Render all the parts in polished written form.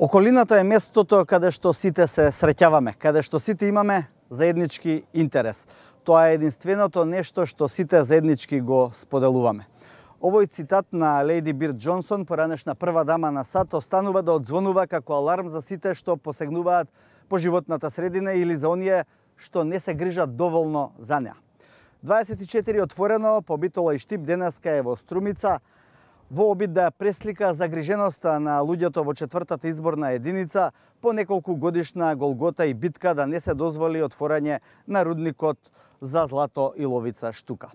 Околината е местото каде што сите се среќаваме, каде што сите имаме заеднички интерес. Тоа е единственото нешто што сите заеднички го споделуваме. Овој цитат на Лејди Бирд Џонсон, поранешна прва дама на САД, останува да одзвонува како аларм за сите што посегнуваат по животната средина или за оние што не се грижат доволно за неа. 24 отворено по Битола и Штип денеска е во Струмица, во обид да преслика загриженоста на луѓето во четвртата изборна единица по неколку годишна голгота и битка да не се дозволи отворање на рудникот за злато и ловица штука.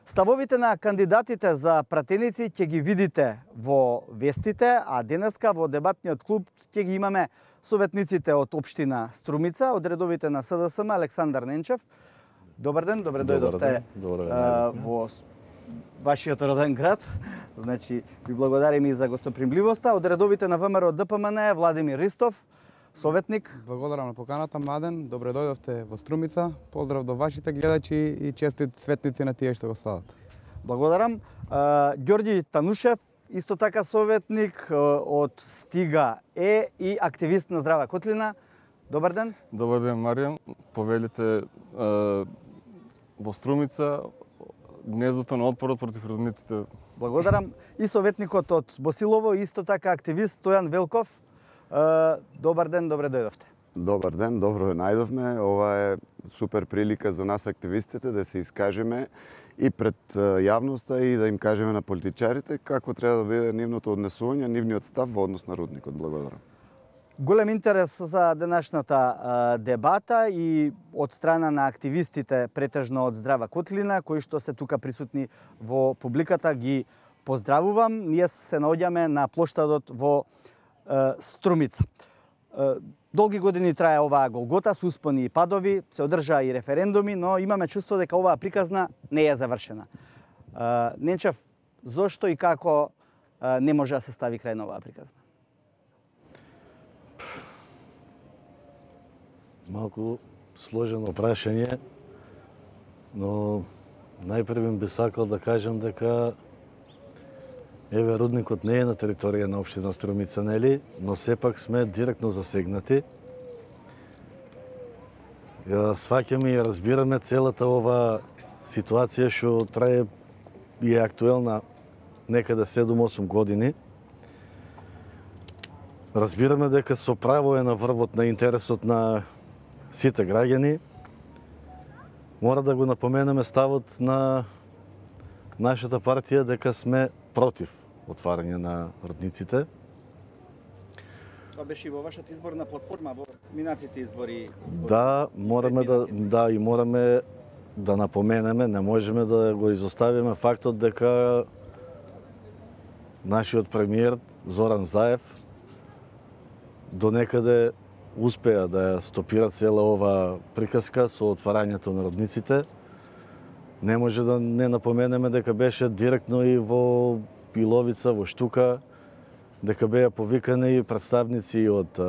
Ставовите на кандидатите за пратеници ќе ги видите во вестите, а денеска во дебатниот клуб ќе ги имаме советниците од општина Струмица, од редовите на СДСМ Александар Ненчев. Добар ден, добре дојдовте во вашиот роден град. Значи, ви благодарим и за гостопримливоста. Од редовите на ВМРО ДПМН Владимир Ристов, советник. Благодарам на поканата, Младен. Добре дојдовте во Струмица. Поздрав до вашите гледачи и честит светници на тие што го слават. Благодарам. Ѓорѓи Танушев, исто така советник од Стига Е и активист на Здрава Котлина. Добар ден. Добар ден, Маријан. Повелите во Струмица, гнездото на отпорот против родниците. Благодарам. И советникот од Босилово, исто така активист Стојан Велков. Добар ден, добре дојдовте. Добар ден, добро најдовме. Ова е супер прилика за нас активистите да се искажеме и пред јавноста и да им кажеме на политичарите како треба да биде нивното однесување, нивниот став во однос на рудникот. Благодарам. Голем интерес за денешната дебата и од страна на активистите, претежно од Здрава Котлина, кои што се тука присутни во публиката, ги поздравувам. Ние се наоѓаме на плоштадот во Струмица. Долги години трае оваа голгота, со успони и падови, се одржаа и референдуми, но имаме чувство дека оваа приказна не е завршена. Ненчев, зошто и како не може да се стави крај на оваа приказна? Малку сложено прашање, но најпрвен би сакал да кажам дека еве рудникот не е на територија на општина Струмица, нели, но сепак сме директно засегнати. Ја сваќаме и разбираме целата ова ситуација што трае и е актуелна некаде 7-8 години. Разбираме дека со право е на врвот на интересот на сите граѓани. Мора да го напоменеме ставот на нашата партија дека сме против отварање на рудниците. Тоа беше и во вашата изборна платформа во минатите избори. Да, morаме да напоменеме, не можеме да го изоставиме фактот дека нашиот премиер Зоран Заев до некаде успеа да ја стопира цела ова приказка со отварањето на рудниците. Не може да не напоменеме дека беше директно и во Иловица, во Штука, дека беа повикани представници од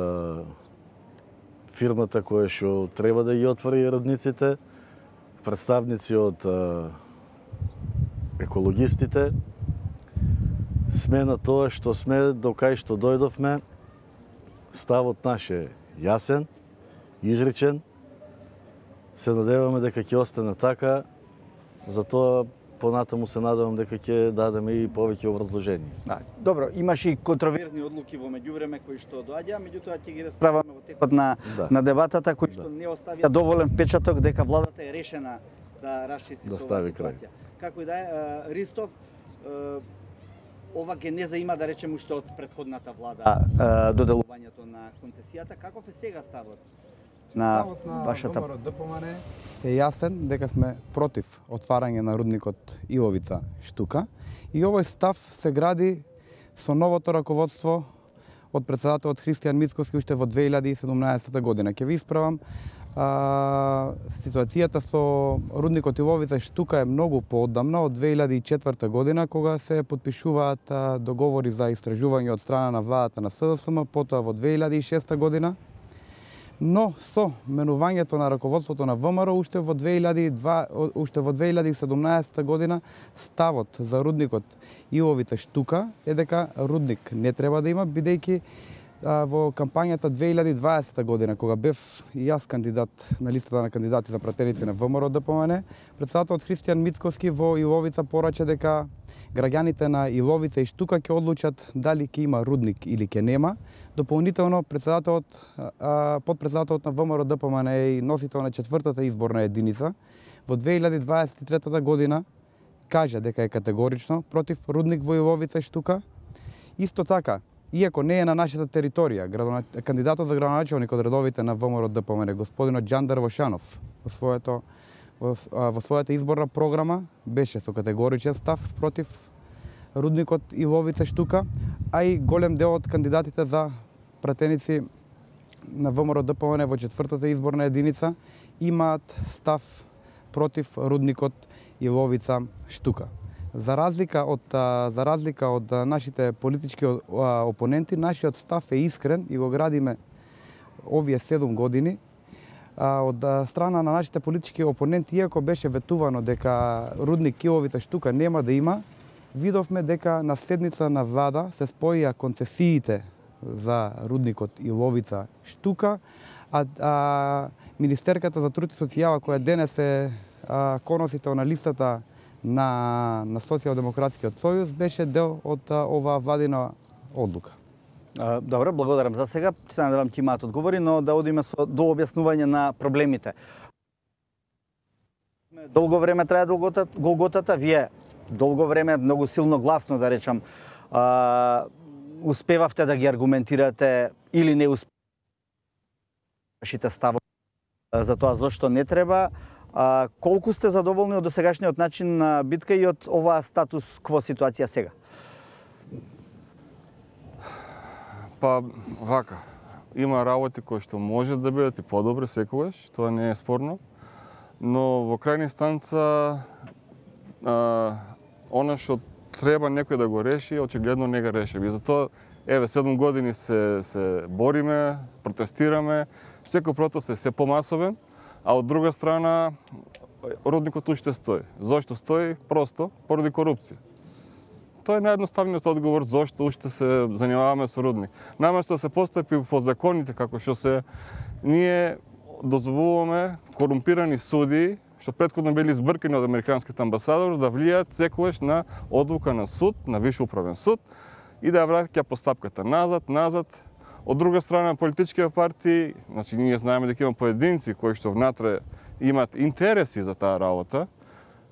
фирмата која што треба да ги отвори рудниците, представници од екологистите. Сме на тоа што сме, до кај што дојдовме, ставот наш е јасен, изречен. Се надеваме дека ќе остане така, затоа понатаму се надевам дека ќе дадеме и повеќе образложение. Добро, имаше и контроверзни одлуки во меѓувреме кои што доаѓаа, меѓутоа ќе ги расправаме во текот на дебатата, кои што не оставија доволен впечаток дека владата е решена да расчисти оваа ситуација. Како и да е, Ристов, ова ге не заима, да речем, уште од претходната влада доделувањето на концесијата. Каков е сега ставот на вашата ДПМН? Е јасен дека сме против отварање на рудникот Иловица Штука и овој став се гради со новото раководство од председателот Христијан Мицковски уште во 2017 година. Ќе ви исправам, ситуацијата со рудникот Иловица Штука е многу поодамна, од 2004 година, кога се подпишуваат договори за истражување од страна на владата на СДСМ, потоа во 2006 година. Но со менувањето на раководството на ВМРО уште во 2017 година ставот за рудникот Иловица Штука е дека рудник не треба да има, бидејќи во кампањата 2020 година, кога бев и јас кандидат на листата на кандидати за пратеници на ВМРО ДПМН, претседателот Христијан Мицковски во Иловица порача дека граѓаните на Иловица и Штука ќе одлучат дали ќе има рудник или ќе нема. Дополнително, подпредседателот на ВМРО ДПМН и носител на 4-та изборна единица во 2023 година кажа дека е категорично против рудник во Иловица и Штука. Исто така, иако не е на нашата територија, кандидатот за градоначелник од редовите на ВМРО ДПМН, господинот Џандар Вошанов, во својата изборна програма беше со категоричен став против рудникот Иловица Штука, а и голем дел од кандидатите за пратеници на ВМРО ДПМН во 4-та изборна единица имаат став против рудникот Иловица Штука. За разлика од нашите политички опоненти, нашиот став е искрен и го градиме овие 7 години. Од страна на нашите политички опоненти, иако беше ветувано дека рудник Иловица Штука нема да има, видовме дека на седница на влада се споија концесиите за рудникот Иловица Штука, а министерката за труд и социјала, која денес е коносител на листата на Социјалдемократскиот сојуз, беше дел од оваа владина одлука. Добро, благодарам за сега. Се надевам ќе имаат одговори, но да одиме до објаснување на проблемите. Долго време трае Голготата, вие долго време, многу силно гласно да речам, успевавте да ги аргументирате или не успевате ставот за тоа зошто не треба. Колку сте задоволни од досегашниот начин на битка и од оваа статус кво ситуација сега? Па, вака, има работи кои што може да бидат и подобри секогаш, тоа не е спорно, но во крајна инстанца она што треба некој да го реши, очигледно не го реши. И затоа, 7 години се бориме, протестираме, секој протест е се помасовен, а од друга страна, рудникот уште стои. Зошто стои? Просто, поради корупција. Тоа е наједноставниот одговор зошто уште се занимаваме со рудник. Наместо да се постапи по законите како што се, ние дозволуваме корумпирани судии, што претходно били избркани од американскиот амбасадор, да влијаат секогаш на одлука на суд, на Висш управен суд, и да ја враќа постапката назад. Од друга страна, политичките партии, значи ние знаеме дека има поединци кои што внатре имаат интереси за таа работа.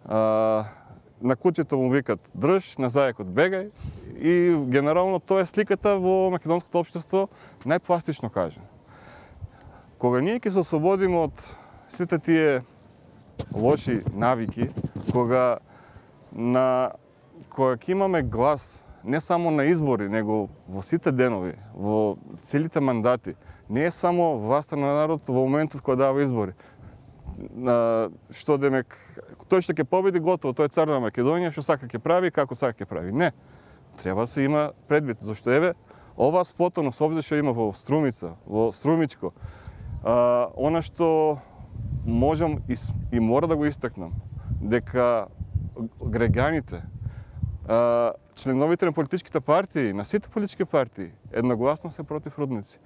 На куќето му викат држ, на зајакот бегај, и генерално тоа е сликата во македонското општество најпластично кажано. Кога ние ќе се ослободиме од сите тие лоши навики, кога ќе имаме глас не само на избори, него во сите денови, во целите мандати. Не е само власта на народ во моментот кога дава избори. Што демек, тој што ќе победи, готово, тој е цар на Македонија, што сака ќе прави, како сака ќе прави. Не. Треба да се има предвид, зашто оваа сплотеност овде што има во Струмица, во Струмичко, она што можам и мора да го истакнам, дека граѓаните, членовите на политичките партии, на сите политички партии, едногласно се против рудници.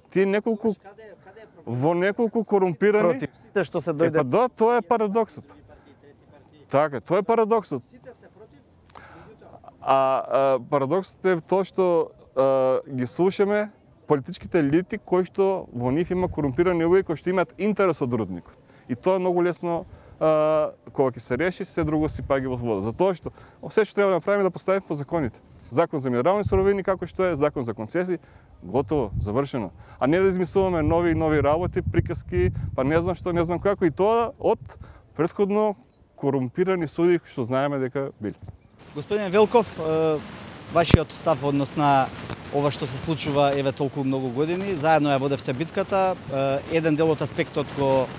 Тие во неколку корумпирани... Против што се дојде... Да, тоа е парадоксот. Така, тоа е парадоксот. Парадоксот е тоа што ги слушаме политичките елити кои што во нив има корумпирани луѓе кои што имаат интерес од рудникот. И тоа е многу лесно кога ќе се реши, се друго си паѓа во вода. Затоа што се што треба да направиме да поставиме по законите. Закон за минерални суровини како што е, закон за концесии, готово, завршено. А не да измислуваме нови и нови работи, приказки, па не знам што, не знам како, и тоа од претходно корумпирани суди што знаеме дека били. Господин Велков, вашиот став однос на ова што се случува еве толку многу години, заедно ја водевте битката, еден дел од аспектот го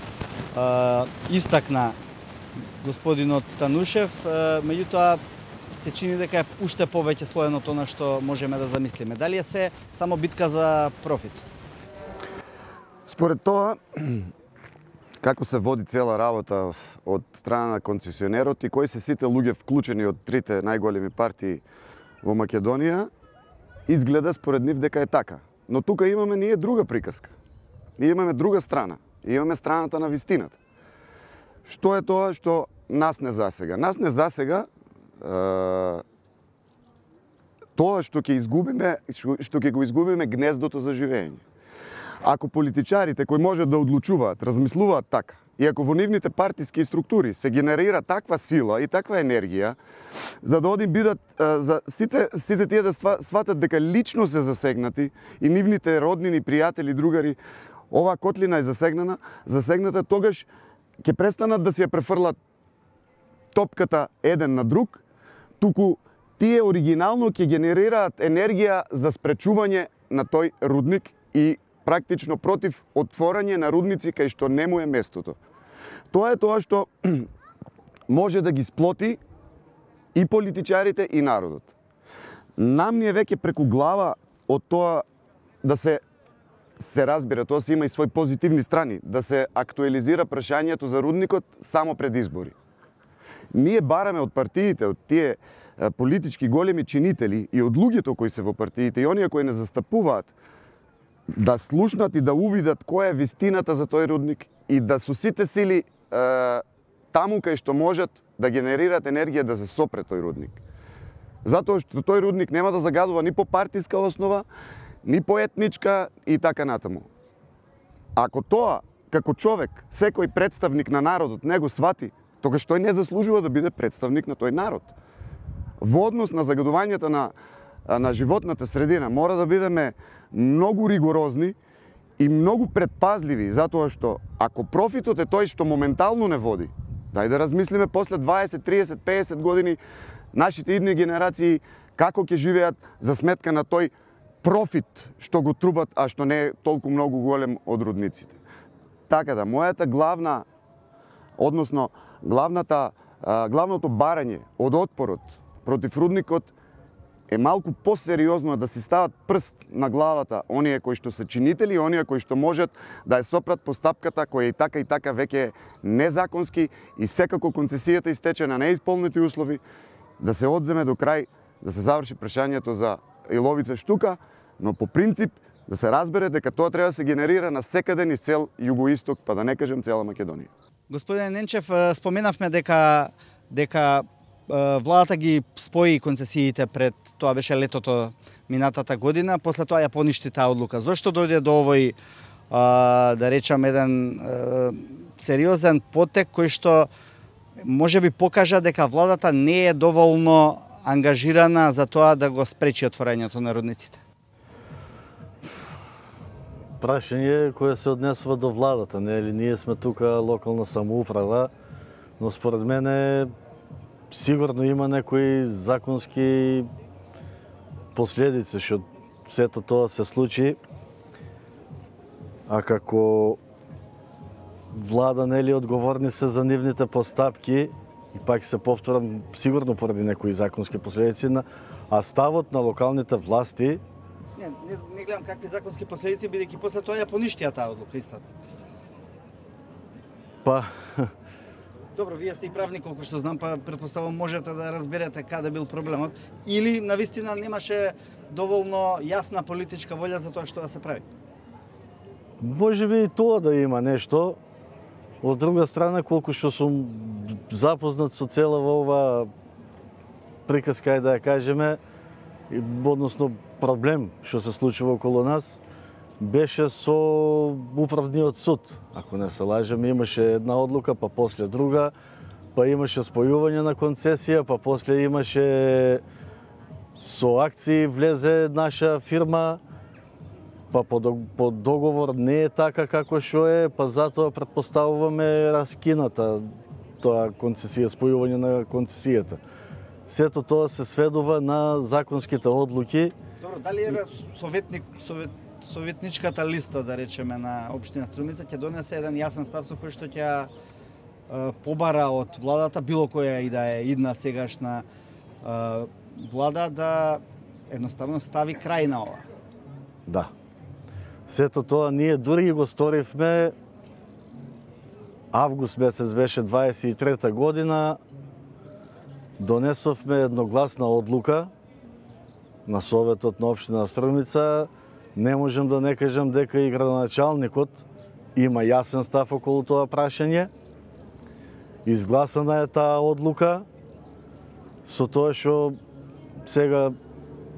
истакна господинот Танушев, меѓутоа се чини дека е уште повеќе слоено тоа што можеме да замислиме. Дали е се само битка за профит? Според тоа, како се води цела работа од страна на концесионерот и кои се сите луѓе вклучени од трите најголеми партии во Македонија, изгледа според нив дека е така. Но тука имаме ние друга приказка. Ние имаме друга страна. Имаме страната на вистината. Што е тоа што нас не засега? Нас не засега тоа што ќе го изгубиме гнездото за живење. Ако политичарите кои можат да одлучуваат, размислуваат така, и ако во нивните партиски структури се генерира таква сила и таква енергија, за да одим бидат за сите тие да сватат дека лично се засегнати и нивните роднини, пријатели, другари, оваа котлина е засегната, тогаш ќе престанат да си ја префрлат топката еден на друг, туку тие оригинално ќе генерираат енергија за спречување на тој рудник и практично против отворање на рудници кај што не му е местото. Тоа е тоа што може да ги сплоти и политичарите и народот. Нам ни е веќе преку глава од тоа да се разбира, тоа се има и свои позитивни страни, да се актуализира прашањето за рудникот само пред избори. Ние бараме од партиите, од тие политички големи чинители и од луѓето кои се во партиите и оние кои не застапуваат, да слушнат и да увидат која е вистината за тој рудник и да со сите сили таму кај што можат да генерираат енергија да се сопре тој рудник. Затоа што тој рудник нема да загадува ни по партиска основа, ни по етничка и така натаму. Ако тоа, како човек, секој представник на народот не го свати, тогаш тој не заслужува да биде представник на тој народ. Во однос на загадувањето на животната средина мора да бидеме многу ригорозни и многу предпазливи, затоа што ако профитот е тој што моментално не води, дај да размислиме после 20, 30, 50 години нашите идни генерации како ќе живеат за сметка на тој профит што го трубат, а што не е толку многу голем од рудниците. Така да, мојата главна, односно главното барање од отпорот против рудникот е малку посериозно да си стават прст на главата оние кои што се чинители, оние кои што можат да ја сопрат постапката која и така веќе е незаконски и секако концесијата истече на неисполнети услови, да се одземе до крај, да се заврши прашањето за Иловица Штука, но по принцип да се разбере дека тоа треба да се генерира на секаде низ цел југоисток, па да не кажем цела Македонија. Господин Ненчев, споменавме дека владата ги спои концесиите пред, тоа беше летото минатата година, после тоа ја поништи таа одлука. Зошто дојде до овој, да речам, еден сериозен потек кој што можеби покажа дека владата не е доволно ангажирана за тоа да го спречи отворањето на рудниците? Прашање кое се однесува до владата, нели? Ние сме тука локална самоуправа, но според мене сигурно има некои законски последици што сето тоа се случи, а како влада, нели, одговорни се за нивните постапки и пак се повторам, сигурно поради некои законски последици, а ставот на локалните власти Не гледам какви законски последици, бидејќи после тоа ја поништија таа одлука истата. Па Добро, вие сте и правник, колку што знам, па претпоставувам можете да разберете каде бил проблемот, или навистина немаше доволно јасна политичка волја за тоа што да се прави? може би и тоа да има нешто. Од друга страна, колку што сум запознат со цела ова приказка, да ја кажеме, односно проблем што се случува околу нас, беше со управниот суд. Ако не се лажем, имаше една одлука, па после друга, па имаше спојување на концесија, па после имаше со акции влезе наша фирма, па по договор не е така како што е, па затоа претпоставуваме раскината тоа концесија, спојување на концесијата. Сето тоа се сведува на законските одлуки. Добро, дали еве советничката листа, да речеме, на општина Струмица ќе донесе еден јасен став со кој што ќе побара од владата, било која и да е идна сегашна влада, да едноставно стави крај на ова? Да. Сето тоа ние дури го сторивме, август месец беше 23-та година, донесовме едногласна одлука на Советот на општина Струмица Не можам да не кажам дека и градоначалникот има јасен став околу тоа прашање. Изгласана е таа одлука со тоа што сега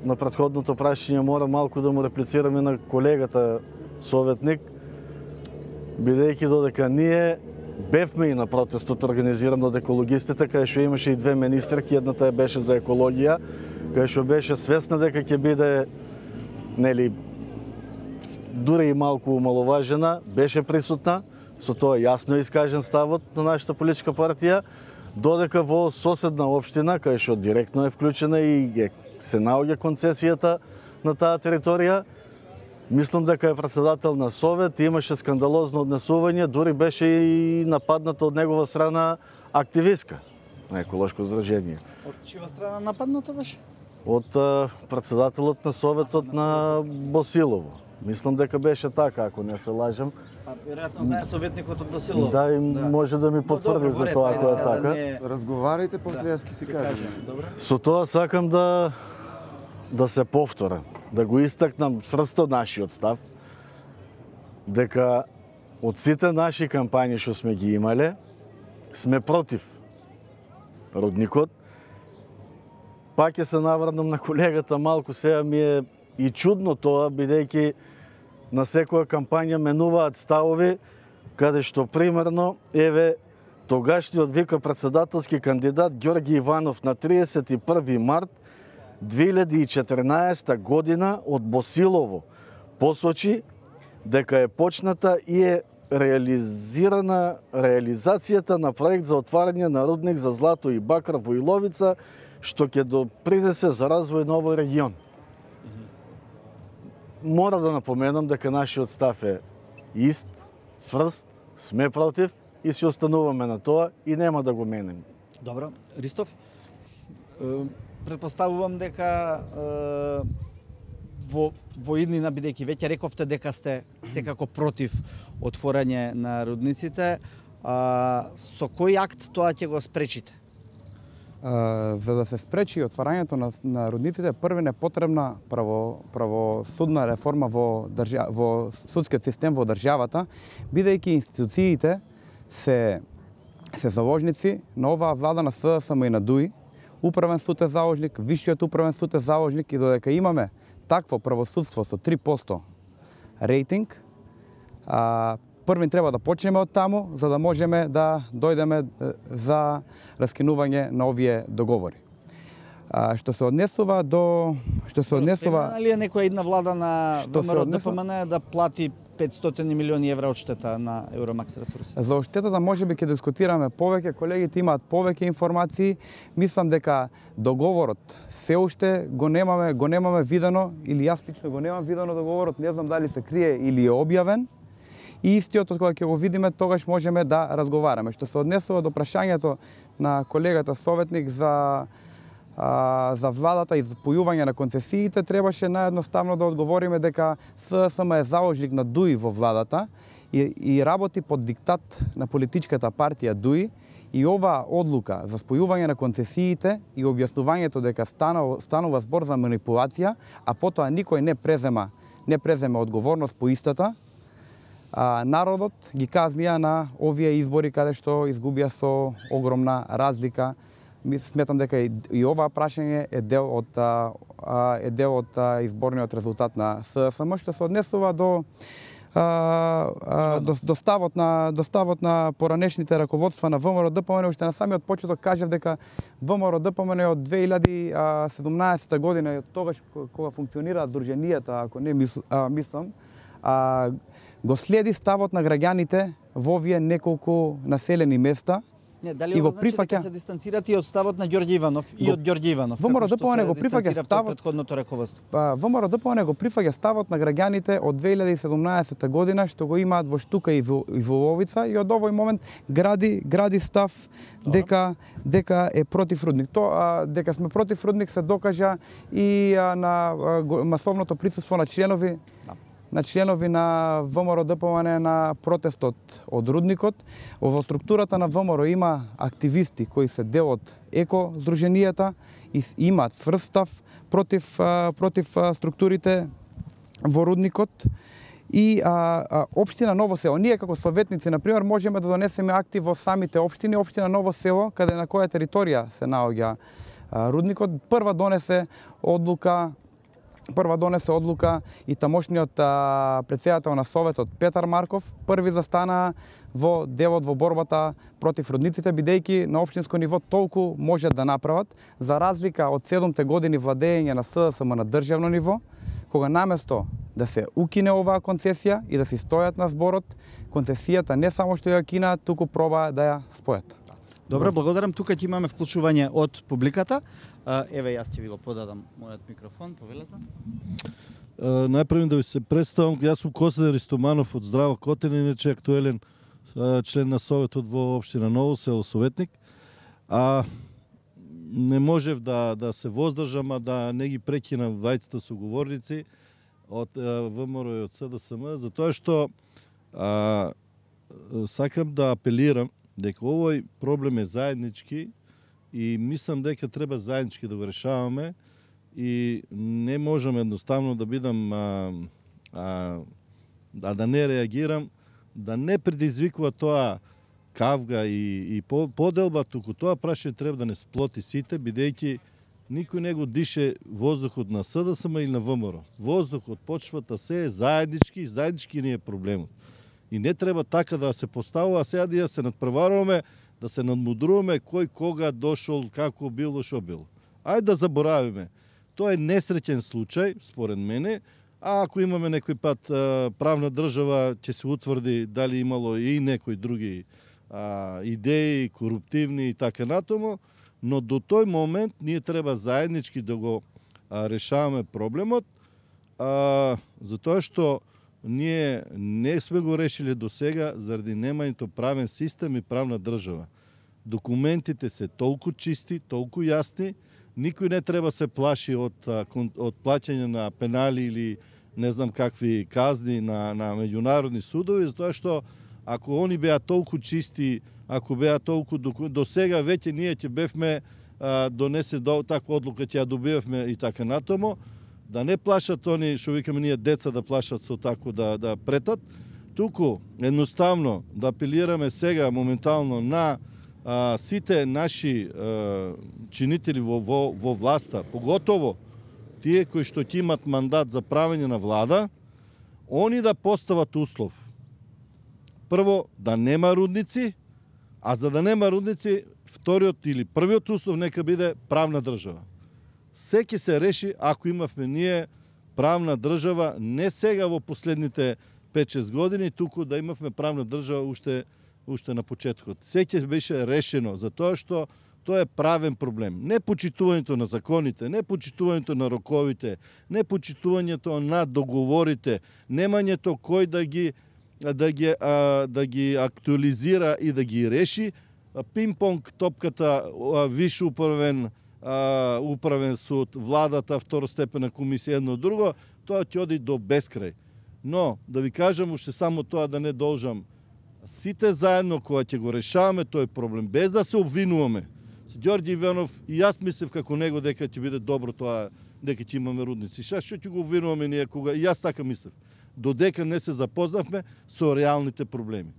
на претходното прашање мора малку да му реплицираме на колегата советник, бидејќи додека ние бевме и на протестот организиран од екологистите, кај што имаше и две министерки, едната беше за екологија, кај што беше свесна дека ќе биде, нели, дури и малку умаловажена, беше присутна, со тоа јасно искажен ставот на нашата политичка партија, додека во соседна општина, кај што директно е вклучена и се наоѓа концесијата на таа територија, мислам дека е председател на совет, имаше скандалозно однесување, дури беше и нападната од негова страна активистка на еколошко здружение. Од чија страна нападната беше? Од председателот на советот на Босилово. Мислам дека беше така, ако не се лажам. Веројатно знае советникот од Босилово. Да, и може да ми потврди за тоа ако е така. Разговарајте, после јас ќе си кажам. Со тоа сакам да се повтора, да го истакнам срсто нашиот став, дека од сите наши кампањи што сме ги имале, сме против рудникот. Пак ќе се наврнам на колегата малку, сега ми е и чудно тоа, бидејќи на секоја кампања менуваат ставови, каде што примерно, еве, тогашниот вика председателски кандидат Ѓорги Иванов на 31 март 2014 година од Босилово посочи дека е почната и е реализирана реализацијата на проект за отварање на рудник за злато и бакар во Иловица, што ќе допринесе за развој на овој регион. Мора да напоменам дека нашиот став е ист, цврст, сме против и се остануваме на тоа и нема да го менем. Добро, Ристов, претпоставувам дека во иднина, бидејќи веќе рековте дека сте секако против отворање на рудниците, со кој акт тоа ќе го спречите? За да се спречи отварањето на рудниците, прво е потребна правосудна реформа во судскиот систем во државата, бидејќи институциите се заложници на оваа влада на СДСМ и на ДУИ. Управен суд е заложник, Висшиот управен суд е заложник и додека имаме такво правосудство со 3% рейтинг, првин треба да почнеме од таму, за да можеме да дојдеме за раскинување на овие договори. Што се однесува до... Спремена ли е некоја една влада на ВМРО ДПМН да плати 500 милиони евра одштета на Евромакс Ресурси? За одштетата можеби ќе дискутираме повеќе, колегите имаат повеќе информации. Мислам дека договорот се уште го немаме видено, или јас лично го немам видено договорот, не знам дали се крие или е објавен. И истиот, кога ќе го видиме, тогаш можеме да разговараме. Што се однесува до прашањето на колегата советник за владата и запојување на концесиите, требаше наедноставно да одговориме дека СДСМ е заложник на ДУИ во владата и работи под диктат на политичката партија ДУИ, и оваа одлука за спојување на концесиите и објаснувањето дека станува збор за манипулација, а потоа никој не презема одговорност по истата, народот ги казнија на овие избори каде што изгубија со огромна разлика. Сметам дека и оваа прашање е дел од изборниот резултат на СДСМ, што се однесува до ставот на поранешните раководства на ВМРО ДПМН. Уште на самиот почеток кажав дека ВМРО ДПМН од 2017 година, од тогаш кога функционираат друженијата, ако не мислам, го следи ставот на граѓаните во овие неколку населени места. Не, дали ова значи дека се дистанцирате и од ставот на Ѓорѓи Иванов и од Ѓорѓи Иванов? ВМРО ДПМН го прифаќа ставот претходното раководство. ВМРО ДПМН го прифаќа ставот на граѓаните од 2017 година што го имаат во Штука и во Ловица, и од овој момент гради став дека е против рудник. Дека сме против рудник се докажа и на масовното присуство на членови на ВМРО ДПМН на протестот од рудникот. Во структурата на ВМРО има активисти кои се дел од еко здруженијата и имаат цврст став против структурите во рудникот. И општина Ново село. Ние како советници, например, можеме да донесеме акти во самите општини. Општина Ново село, каде на која територија се наоѓа рудникот, прва донесе одлука и тамошниот претседател на Советот Петар Марков први застана во делот во борбата против рудниците, бидејќи на општинско ниво толку можат да направат, за разлика од 7 години владење на СДСМ на државно ниво, кога наместо да се укине оваа концесија и да си стојат на зборот, концесијата не само што ја кина, туку пробаа да ја спојат. Добре, благодарам. Тука ќе имаме вклучување од публиката. Еве, јас ќе ви го подадам мојот микрофон, повелете. Најпрво да ви се представам, јас сум Костадин Ристоманов од Здрава Котина, иначе актуелен член на Советот во општина Ново село, советник. Не можев да се воздржам, да не ги прекинам вајцата соговорници од ВМРО и од СДСМ, затоа што сакам да апелирам дека овој проблем е заеднички и мислам дека треба заеднички да го решаваме и не можам едноставно да бидам да не реагирам, да не предизвикува тоа кавга и поделба, туку тоа прашање треба да не сплоти сите, бидејќи никој не го дише воздухот на СДСМ или на ВМРО. Воздухот, почвата, се е заеднички ни е проблемот. И не треба така да се поставува, а сега да се надпреваруваме, да се надмудруваме кој кога дошол, како било, шо било. Ајде да заборавиме. Тоа е несреќен случај, според мене, а ако имаме некој пат правна држава, ќе се утврди дали имало и некои други идеи, коруптивни и така натаму, но до тој момент ние треба заеднички да го решаваме проблемот, затоа што ние не сме го решили до сега заради немањето правен систем и правна држава. Документите се толку чисти, толку јасни, никој не треба се плаши од плаќање на пенали или не знам какви казни на меѓународни судови, затоа што ако они беа толку чисти, ако беа толку до сега веќе ние ќе бевме донесе таква одлука, ќе ја добивавме и така натаму, да не плашат они, што викаме ние деца да плашат со тако да претат, туку едноставно да апелираме сега моментално на сите наши чинители во власта, поготово тие кои што ќе имат мандат за правење на влада, они да постават услов. Прво, да нема рудници, а за да нема рудници, вториот или првиот услов нека биде правна држава. Се ќе се реши ако имавме ние правна држава, не сега во последните 5-6 години, туку да имавме правна држава уште на почетокот. Се ќе беше решено, затоа што тоа е правен проблем. Не почитувањето на законите, не почитувањето на роковите, не почитувањето на договорите, немањето кој да ги актуализира и да ги реши, пинг-понг топката, виш управен суд, владата, второстепена комисија, едно друго, тоа ќе оди до безкрај. Но, да ви кажам уште само тоа, да не должам, сите заедно кога ќе го решаваме тој проблем, без да се обвинуваме. Ѓорѓе Иванов, и јас мислев како него дека ќе биде добро тоа, дека ќе имаме рудници. Што ќе го обвинуваме ние кога, и јас така мислев. Додека не се запознавме со реалните проблеми.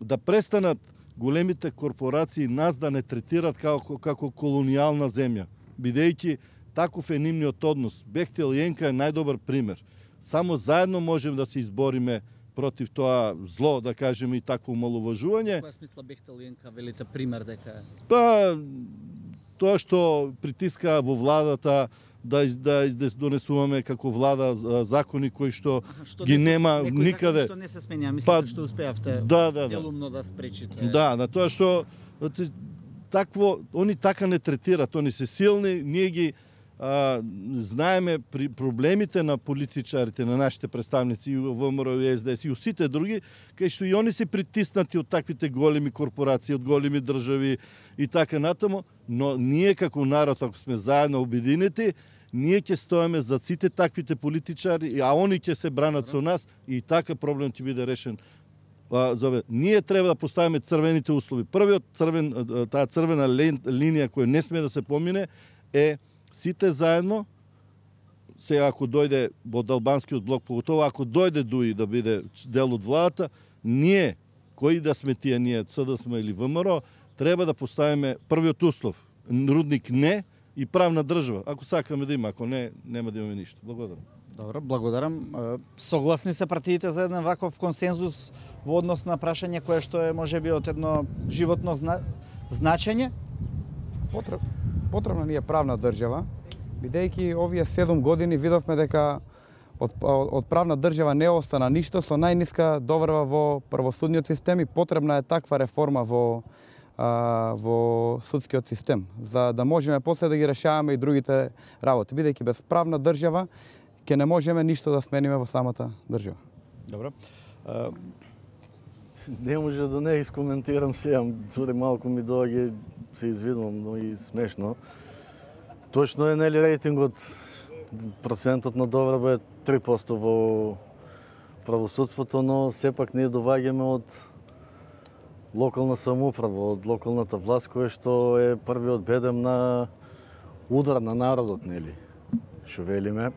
Да престанат големите корпорации нас да не третират како колонијална земја, бидејќи таков е нивниот однос. Бехтел и Енка е најдобар пример. Само заедно можем да се избориме против тоа зло, да кажеме, и такво маловажување. Која смисла Бехтел и Енка велите пример дека? Па, тоа што притиска во владата да донесуваме како влада закони кои што ги нема никаде. Што не се сменја, мислите што успеавте делумно да спречите. Да, на тоа што такво, они така не третират, они се силни, ние ги знаеме проблемите на политичарите, на нашите представници и ВМРО и СДС и сите други, кај што и они се притиснати од таквите големи корпорации, од големи држави и така натаму, но ние како народ, ако сме заедно обединети, ние ќе стоиме за сите таквите политичари, а они ќе се бранат со нас и така проблем ќе биде решен. Ние треба да поставиме црвените услови. Првиот таа црвена линија која не сме да се помине е сите заедно сега ако дојде од албанскиот блок, поготово ако дојде Дуи да биде дел од владата, ние, кои да сме тие ние, СДСМ или ВМРО, треба да поставиме првиот услов. Рудник не и правна држава. Ако сакаме да има, ако не, нема да имаме ништо. Благодарам. Добро, благодарам. Согласни се партиите за еден ваков консензус во однос на прашање кое што е можеби од едно животно значење? Потребна ни е правна држава, бидејќи овие 7 години видовме дека од правна држава не остана ништо, со најниска доврва во правосудниот систем и потребна е таква реформа во судскиот систем, за да можеме после да ги решаваме и другите работи. Бидејќи без правна држава ќе не можеме ништо да смениме во самата држава. Добро. Не може да не искоментирам сега, дури малку ми доаѓа, се извинувам, но и смешно. Точно е, нели, рейтингот, процентот на доврба е 3% во правосудството, но сепак ние доваѓаме од локална самоуправа, од локалната власт, која што е првиот бедем на удар на народот, нели, што велиме.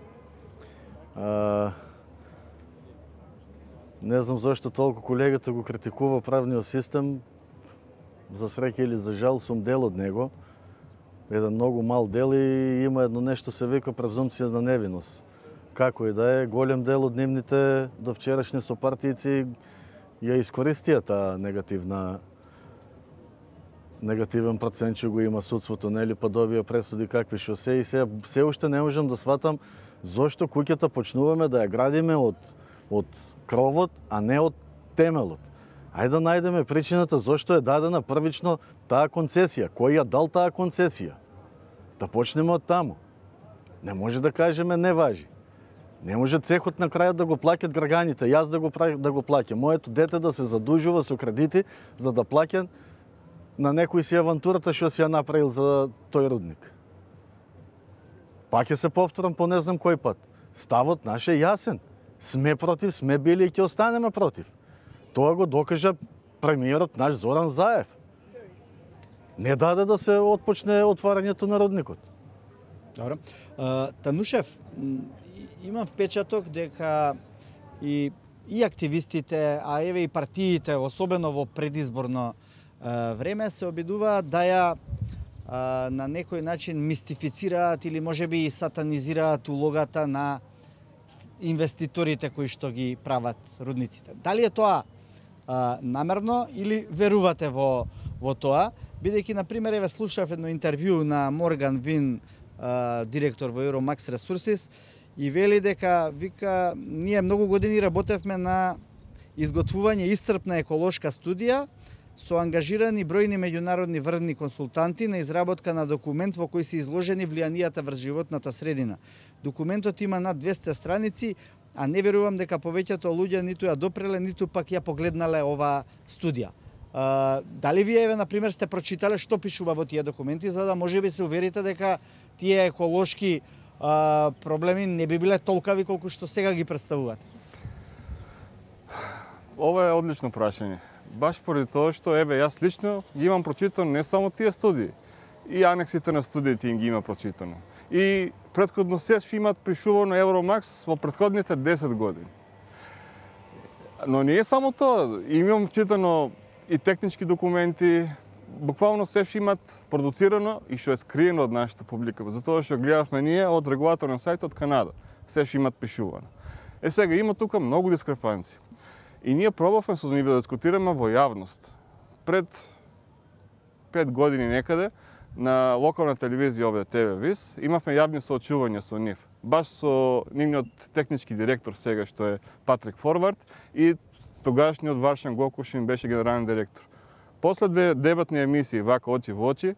Не знам зашто толку колегата го критикува правниот систем, за среќа или за жал сум дел од него. Еден многу мал дел и има едно нешто се вика презумпција на невиност. Како и да е, голем дел од нивните довчерашни сопартијци ја искористија таа негативен процент што го има судството, нели, па добија пресуди какви што се и се уште не можам да сватам зошто куќата почнуваме да ја градиме од кровот, а не од темелот. Ајде да најдеме причината зошто е дадена првично таа концесија, кој ја дал таа концесија. Да почнеме од таму. Не може да кажеме не важи. Не може цехот на крајот да го плаќат граганите, јас да го плаќам, моето дете да се задужува со кредити за да плаќа на некој си авантурата што си ја направил за тој рудник. Пак ќе се повторам по не знам кој пат. Ставот наш е јасен. Сме против, сме били и ќе останеме против. Тоа го докажа премиерот наш Зоран Заев. Не даде да се отпочне отварањето на рудникот. Добро. Танушев, имам впечаток дека и активистите, а еве и партиите, особено во предизборно време, се обидуваат да ја на некој начин мистифицираат или можеби и сатанизираат улогата на инвеститорите кои што ги прават рудниците. Дали е тоа намерно или верувате во тоа? Бидејќи, например, еве слушав едно интервју на Морган Вин, директор во Euromax Resources, и вели дека, вика, ние многу години работевме на изготвување исцрпна еколошка студија со ангажирани бројни меѓународни врвни консултанти на изработка на документ во кој се изложени влијанијата врз животната средина. Документот има над 200 страници, а не верувам дека повеќето луѓе ниту ја допреле, ниту пак ја погледнале оваа студија. Дали вие, еве, например, сте прочитале што пишува во тие документи, за да можеби се уверите дека тие еколошки проблеми не би биле толкави колку што сега ги представувате? Ова е одлично прашање. Баш поради тоа што, еве, јас лично ги имам прочитано не само тие студии, и анексите на студиите им ги има прочитано. И претходно се што имат пришувано Евромакс во претходните 10 години. Но не е само тоа, имам читано и технички документи, буквално се што имат продуцирано и што е скриено од нашата публика, затоа што гледавме ние од регулаторен сајт од Канада, се што имат пишувано. Сега има тука многу дискрепанции. И ние пробавме со нив да дискутираме во јавност. Пред 5 години некаде, на локална телевизија овде ТВ Вис, имавме јавни соочувања со нив. Баш со нивниот технички директор сега, што е Патрик Форвард, и тогашниот Варшан Гокушин беше генерален директор. После две дебатни емисии, вака очи во очи,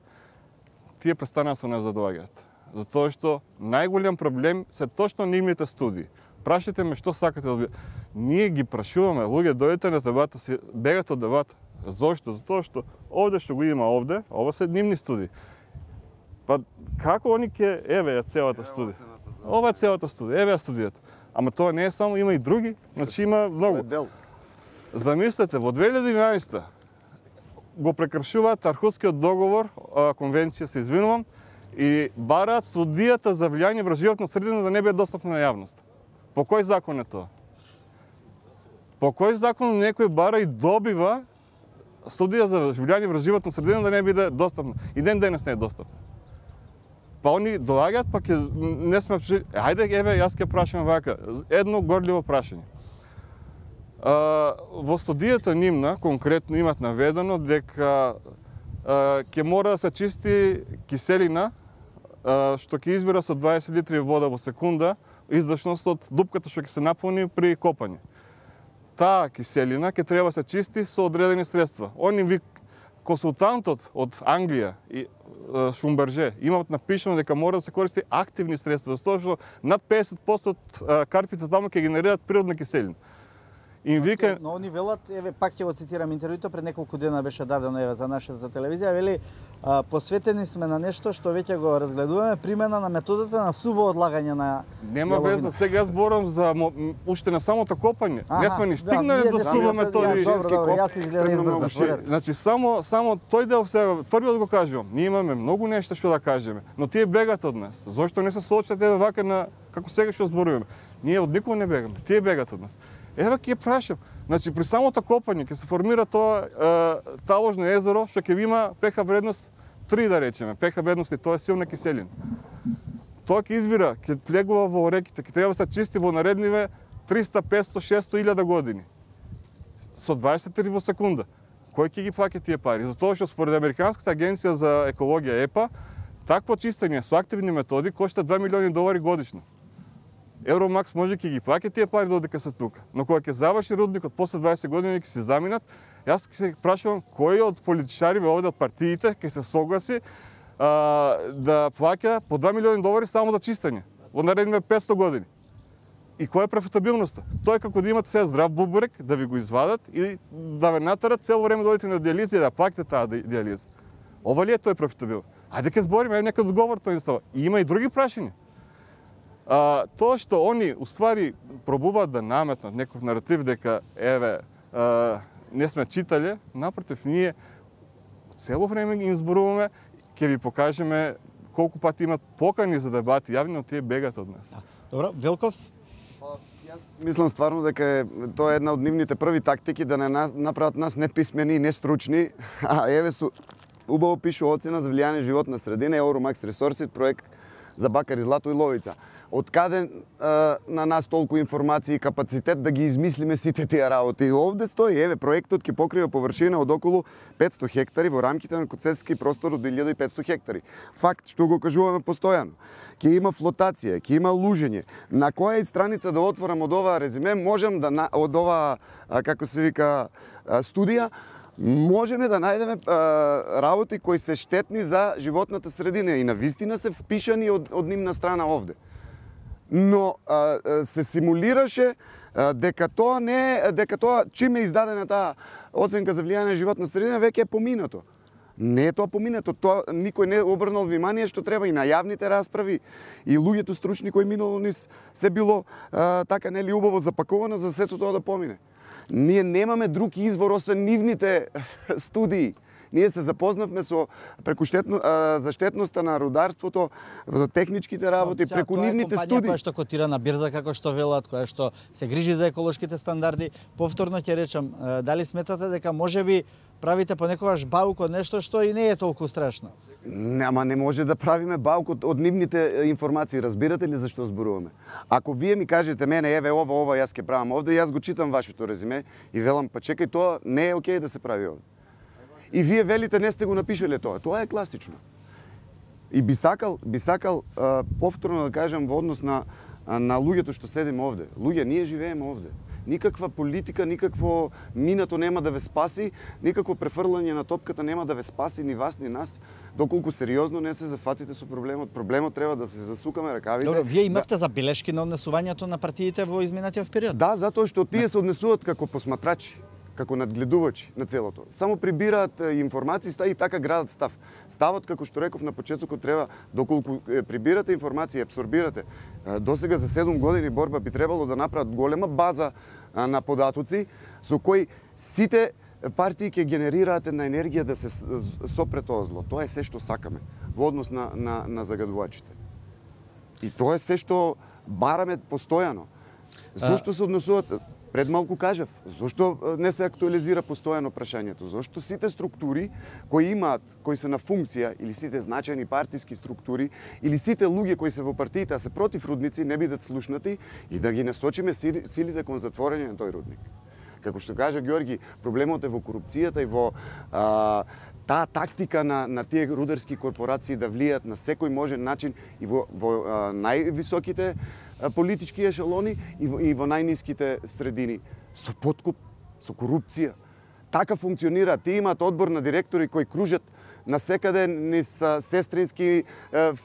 тие престанаа со нас да доаѓаат. Затоа што најголем проблем се точно нивните студии. Прашите ме што сакате да... Ние ги прашуваме, луѓе дојдете на дебата, бегате од дебата. Зошто? Затоа што овде што го има овде, ова се нивни студии. Па како они ќе еве целата студија? Ова е целата студија, еве студијата. Ама тоа не е само, има и други, значи има многу. Замислете, во 2011 го прекршуваат Архускиот договор, конвенција, се извинувам, и бараат студијата за влијание врз животна средина да не биде достапна на јавност. По кој закон е тоа? По кој закон некој бара и добива студија за влијание врз животна средина да не биде достапна? И ден денес не е достапна. Па они доаѓаат, па не сме... Ајде, еве, јас ќе прашам вака, едно горливо прашање. Во студијата нивна, конкретно имат наведено дека ќе мора да се чисти киселина што ќе избира со 20 литри вода во секунда, издашност од дупката што ќе се наполни при копање. Таа киселина ќе треба да се чисти со одредени средства. Консултантот од Англија и Шумберже имаат напишано дека мора да се користи активни средства, затоа што над 50% од карпите таму ќе генерираат природна киселина. И вика... Но они велат, еве пак ќе го цитирам интервјуто, пред неколку дена беше дадено еве за нашата телевизија, вели посветени сме на нешто што веќе го разгледуваме, примена на методата на суво одлагање на Нема веза, сега јас зборам за уште на самото копање. Не сме ни стигнале до сува методи. Јас изгледа избрзав. Значи само тој дел сега првиот го кажувам. Ние имаме многу нешта што да кажеме, но тие бегат од нас. Зошто не се соочат еве вака на како сега што зборуваме? Ние од никој не бегаме, тие бегат од нас. Еве ќе прашам, значи при самото копање ќе се формира тоа таложно езеро што ќе има pH вредност 3 да речеме, pH вредност и тоа е силна киселина. Тоа ќе избира, ќе влегува во реките, ќе треба да се чисти во наредниве 300, 500, 600 илјада години. Со 20 литри во секунда. Кој ќе ги плаќа тие пари? Затоа што според Американската агенција за екологија ЕПА, такво чистење со активни методи кошта $2 милиони годишно. Евромакс може ќе ги плаќа тие пари додека се тука. Но кога ќе заврши рудникот после 20 години ќе се заминат, јас ќе се прашувам кој од политичариве овде од партиите ќе се согласи да плаќа по $2 милиони само за чистење во наредните 500 години. И која е профитабилноста? Тоа е како да имате сега здрав бубрек, да ви го извадат и да ве натарат цело време да одите на диализа и да плаќате таа диализа. Ова ли е тој профитабилно? Ајде ќе збориме, нека одговор тој става. И има и други прашања. Тоа што они уствари пробуваат да наметнат некој наратив дека еве не сме читале, напротив ние цело време ги изборуваме, ќе ви покажеме колку пати имат покани за дебати јавни, но тие бегат од нас. Добро, Велков? Јас мислам стварно дека тоа е една од нивните први тактики да не направат нас неписмени и нестручни, а еве убаво пишу оцена за влијание животна средина, Евромакс Ресорсит, проект за бакари Злато и Ловица. Од каде на нас толку информации и капацитет да ги измислиме сите тие работи? Овде стои, еве, проектот ќе покрива површина од околу 500 хектари во рамките на концесиски простор од 1500 хектари. Факт што го кажуваме постојано. Ќе има флотација, ќе има лужење. На која страница да отворам од оваа резиме, можам да од оваа како се вика студија, можеме да најдеме работи кои се штетни за животната средина и навистина се впишани од нивна страна овде. Но се симулираше дека тоа чим е издадена таа оценка за влијание на животна средина веќе е поминато. Не е тоа поминато, тоа никој не обрнал внимание што треба и на јавните расправи и луѓето стручни кои минало низ се било така нели убаво запакувано за сето тоа да помине. Ние немаме друг извор освен нивните студии. Ние се запознавме со за штетноста на рударството, за техничките работи, преку нивните студии. Тоа е компанија која што котира на бирза, како што велат, која што се грижи за еколошките стандарди. Повторно ќе речам, дали сметате дека можеби правите понекогаш баук од нешто што и не е толку страшно? Ама не може да правиме баук од нивните информации. Разбирате ли зашто зборуваме? Ако вие ми кажете мене, еве ова јас ќе правам овде, јас го читам вашето резиме и велам, па чекај, тоа не е окей да се прави овде. И вие велите не сте го напишале тоа. Тоа е класично. И би сакал повторно да кажам во однос на луѓето што седиме овде. Луѓе, ние живееме овде. Никаква политика, никакво минато нема да ве спаси, никакво префрлање на топката нема да ве спаси ни вас, ни нас, доколку сериозно не се зафатите со проблемот. Проблемот треба да се засукаме ракавите. Добро, вие имавте забелешки на однесувањето на партиите во изминатиот период? Да, затоа што тие се однесуваат како посматрачи, како надгледувачи на целото. Само прибираат информации и така градат став. Ставот, како што реков на почетокот, треба, доколку прибирате информации и абсорбирате. Досега за 7 години борба би требало да направат голема база на податоци со кои сите партии ќе генерираат една енергија да се сопре тоа зло. Тоа е се што сакаме во однос на загадувачите. И тоа е се што бараме постојано. Зошто се однесуваат? Пред малку кажав, зошто не се актуализира постојано прашањето? Зошто сите структури кои се на функција, или сите значајни партиски структури, или сите луѓе кои се во партиите, а се против рудници, не бидат слушнати и да ги насочиме силите кон затворање на тој рудник. Како што кажа Ѓорги, проблемот е во корупцијата и во таа тактика на тие рударски корпорации да влијат на секој можен начин и во највисоките политички ешелони и во најниските средини, со подкуп, со корупција. Така функционира. Тие имаат одбор на директори кои кружат насекаде низ сестрински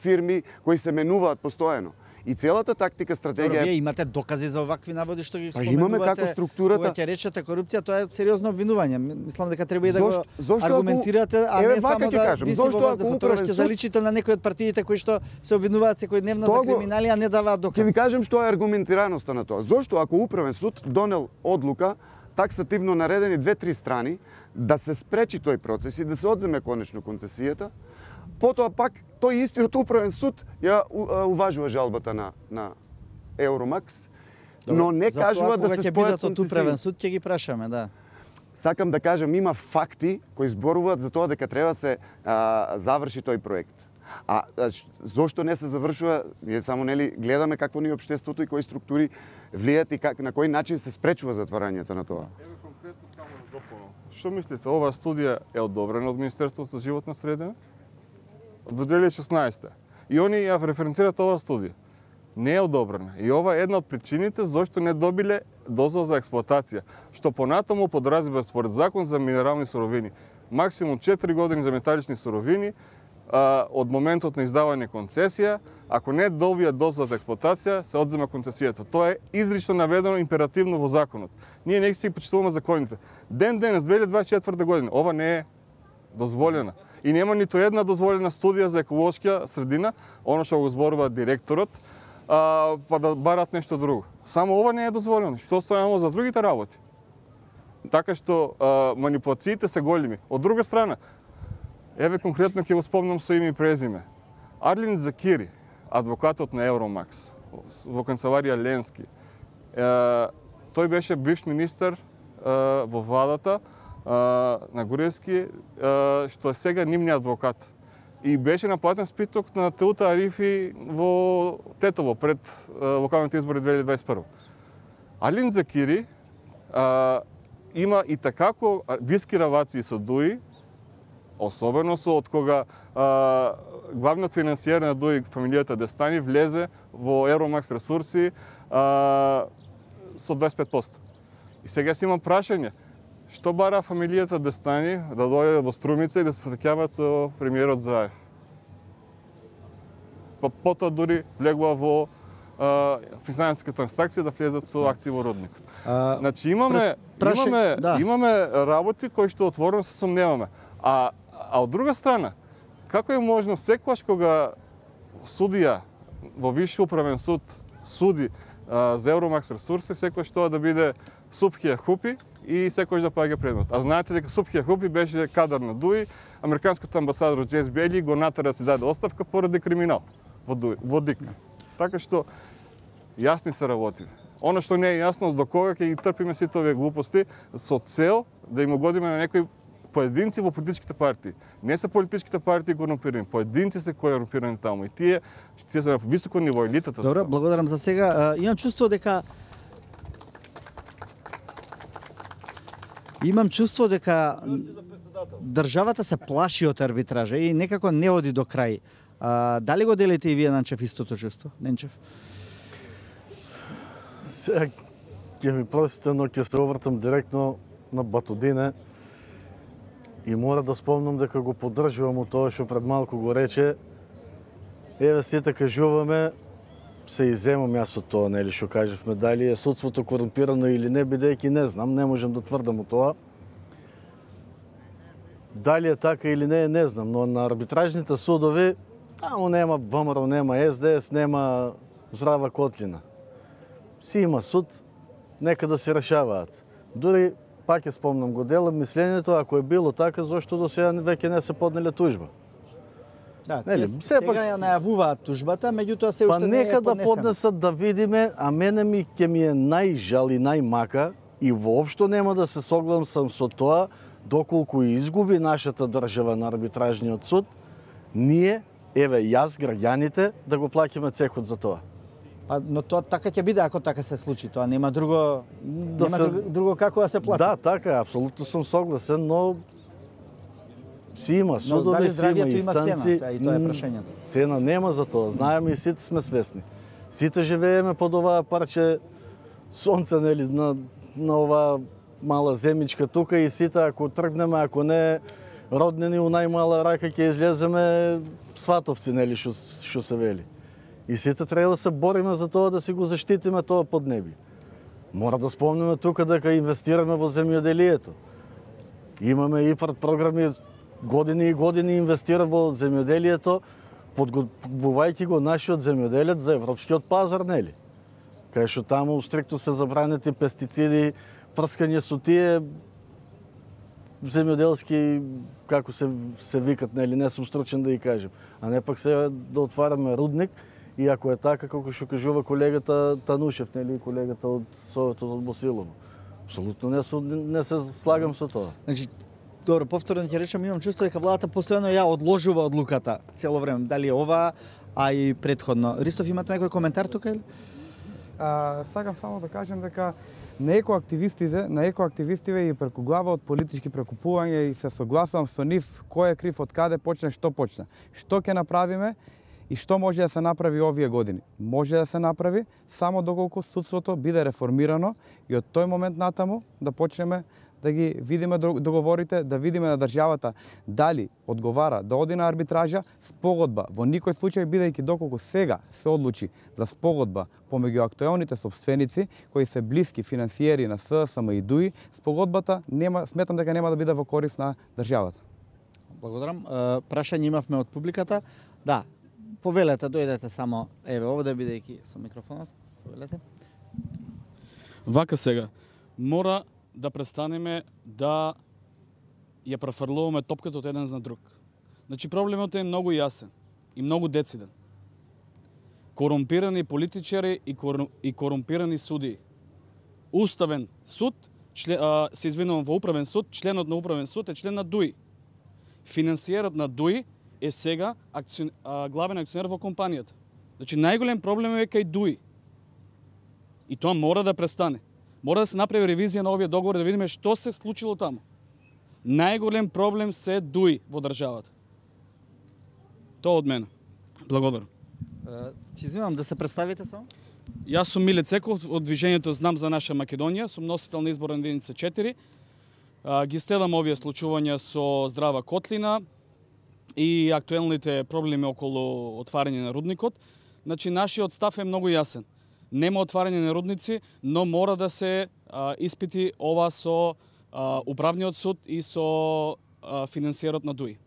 фирми кои се менуваат постојано. И целата тактика, стратегија... Вие имате докази за овакви наводи што ги споменувате? Имаме како структурата... Кога ќе речете корупција, тоа е сериозно обвинување. Мислам дека треба и да го аргументирате, а не само да виси во воздухот. Тоа ќе заличите на некои од партиите кои што се обвинуваат секојдневно за криминали, а не даваат докази. Ќе ви кажем што е аргументираноста на тоа. Зошто ако управен суд донел одлука, таксативно наредени 2-3 страни, да се спречи тој процес и да се одземе конечно концесијата, потоа пак тој истиот управен суд ја уважува жалбата на Евромакс, но не кажува да се спојат концесии. Управен суд ќе ги прашаме, да. Сакам да кажам, има факти кои зборуваат за тоа дека треба се заврши тој проект. А зошто не се завршува? Ние само гледаме какво ни општеството и кои структури влијат и на кој начин се спречува затварањето на тоа. Еве конкретно само да дополнам. Што мислите, оваа студија е одобрена од Министерството за животна средина? Во 2016. И они ја референцираат оваа студија. Не е одобрена. И ова е една од причините зашто не добиле дозвола за експлоатација, што понатаму подразбира според закон за минерални суровини. Максимум 4 години за металични суровини од моментот на издавање концесија, ако не добија дозвола за експлоатација, се одзема концесијата. Тоа е изрично наведено императивно во законот. Ние не си почитуваме законите. Денес 2024 година ова не е дозволена. И нема ниту една дозволена студија за еколошка средина, оно што го зборува директорот, па да барат нешто друго. Само ова не е дозволено. Што стојамо за другите работи? Така што манипулациите се големи. Од друга страна, еве конкретно ќе го спомнам со име и презиме. Арлин Закири, адвокатот на Евромакс, во канцеларија Ленски, тој беше бивш министер во владата на Груевски, што е сега нивниот адвокат. И беше наплатен спиток на Теута Арифи во Тетово пред локалните избори 2021. Арлин Закири има и такако блиски равации со ДУИ, особено со од кога главниот финансиер на ДУИ, фамилијата Дестани, влезе во Евромакс ресурси со 25%. И сега си имам прашање, што бара фамилијата Дестани да дојде во Струмица и да се среќаваат со премиерот Заев? Потоа дури влегува во финансиска транзакција да влезат со акции во рудникот. Значи имаме работи кои што отворено се сомневаме. А од друга страна, како е можно секогаш кога судија во Висши управен суд суди за Евромакс ресурси, секогаш тоа да биде Субхија Хупи и секогаш да паѓа предмет. А знаете дека Субхија Хупи беше кадар на ДУИ, американскиот амбасадор Джейс Бели го натера да си даде оставка поради криминал во ДИК. Така што јасни се работи. Оно што не е јасно до кога ќе ги трпиме сите овие глупости со цел да им угодиме на некои поединци во политичките партии. Не се политичките партии корумпирани, поединци се корумпирани таму и тие се на високо ниво елитата. Добро, благодарам за сега. Имам чувство дека државата се плаши од арбитража и некако не оди до крај. Дали го делите и вие, Нанчев, истото чувство? Ненчев? Сега ќе ми простите, но ќе се обртам директно на Батудине и мора да спомнам дека го поддржувам тоа што пред малку го рече. Еве сите кажуваме, се иземам јас од тоа, нели што кажевме, дали е судството корумпирано или не, бидејќи не знам, не можам да тврдам тоа. Дали е така или не, не знам, но на арбитражните судови таму нема ВМРО, нема СДС, нема Здрава Котлина. Си има суд, нека да се решаваат. Дури пак ќе спомнам, го делам мислењето, ако е било така, зошто до сега веќе не се поднеле тужба? Да, Нели, сега ја најавуваат тужбата, меѓутоа се Па уште не е нека да поднесена. поднесат да видиме, а мене ќе ми е најжал и најмака и воопшто нема да се согласам со тоа доколку изгуби нашата држава на арбитражниот суд, ние, еве јас, граѓаните, да го плаќаме цехот за тоа. Па, но тоа така ќе биде ако така се случи, тоа нема друго Да нема се- друго како да се плати. Да, така, е, апсолутно сум согласен, но си има но судови, дали си има здравието има цена, инстанци. сега и тоа е прашањето. Цена нема за тоа, знаеме и сите сме свесни. Сите живееме под оваа парче сонце, нели, на оваа мала земјичка тука и сите ако тргнеме, ако не роднини у најмала рака ќе излеземе сватовци, нели, што се вели. И сите треба да се бориме за тоа да си го заштитиме тоа поднебие. Мора да спомнеме тука дека инвестираме во земјоделието. Имаме и програми, години и години инвестира во земјоделието, подготвувајќи го нашиот земјоделец за европскиот пазар, нели? Кај што таму стриктно се забранети пестициди, прскање со тие земјоделски, како се викат, нели, не сум стручен да ги кажем. А не пак се да отвараме рудник и ако е така, како што кажува колегата Танушев, нели, колегата од Советот од Босилово. Апсолутно не се слагам со тоа. Значи, добро, повторно ќе речам, имам чувство дека владата постојано ја одложува одлуката цело време, дали е ова, а и претходно. Ристов, имате некој коментар тука или? Сакам само да кажем дека на екоактивистиве и преку глава од политички прекупување и се согласувам со нив кој е крив, од каде почна, што почна. Што ќе направиме и што може да се направи овие години? Може да се направи само доколку судството биде реформирано и од тој момент натаму да почнеме да ги видиме договорите, да видиме на државата дали одговара да оди на арбитража, спогодба. Во никој случај, бидејќи доколку сега се одлучи за спогодба помеѓу актуелните собственици кои се блиски финансиери на СДСМ и ДУИ, спогодбата сметам дека нема да биде во корист на државата. Благодарам. Прашање имавме од публиката. Да, повелете, дојдете само, еве, овде бидејќи со микрофонот. Повелете. Вака сега, мора да престанеме да ја префрлуваме топката од еден на друг. Значи проблемот е многу јасен и многу дециден. Корумпирани политичари и корумпирани судии. Уставен суд, се извинувам, во управен суд, членот на управен суд е член на ДУИ. Финансиерот на ДУИ е сега главен акционер во компанијата. Значи најголем проблем е кај ДУИ. И тоа мора да престане. Мора да се направи ревизија на овие договори да видиме што се случило таму. Најголем проблем се ДУИ во државата. Тоа од мене. Благодарам. Ти извинувам да се представите само? Јас сум Миле Цеков од движењето Знам за наша Македонија, сум носител на изборна единица 4. Ги следам овие случувања со Здрава Котлина и актуелните проблеми околу отварање на рудникот. Значи нашиот став е многу јасен. Нема отварање на рудници, но мора да се испити ова со управниот суд и со финансиерот на ДУИ.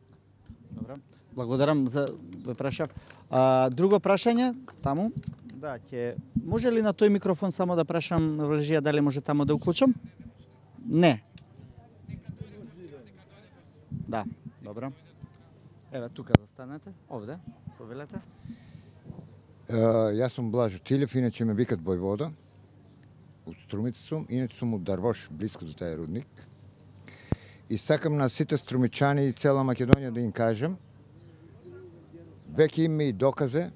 Добро. Благодарам за ве прашав. Друго прашање таму? Да, може ли на тој микрофон само да прашам режија дали може таму да уклучам? Не. Да, добро. Еве тука застанете, овде, повелете. Јас сум Блажо Тилев, иначе ме викат Војвода. Од Струмица сум, иначе сум од Дарвош, близко до тај рудник. И сакам на сите струмичани и цела Македонија да им кажам, веќе има и доказе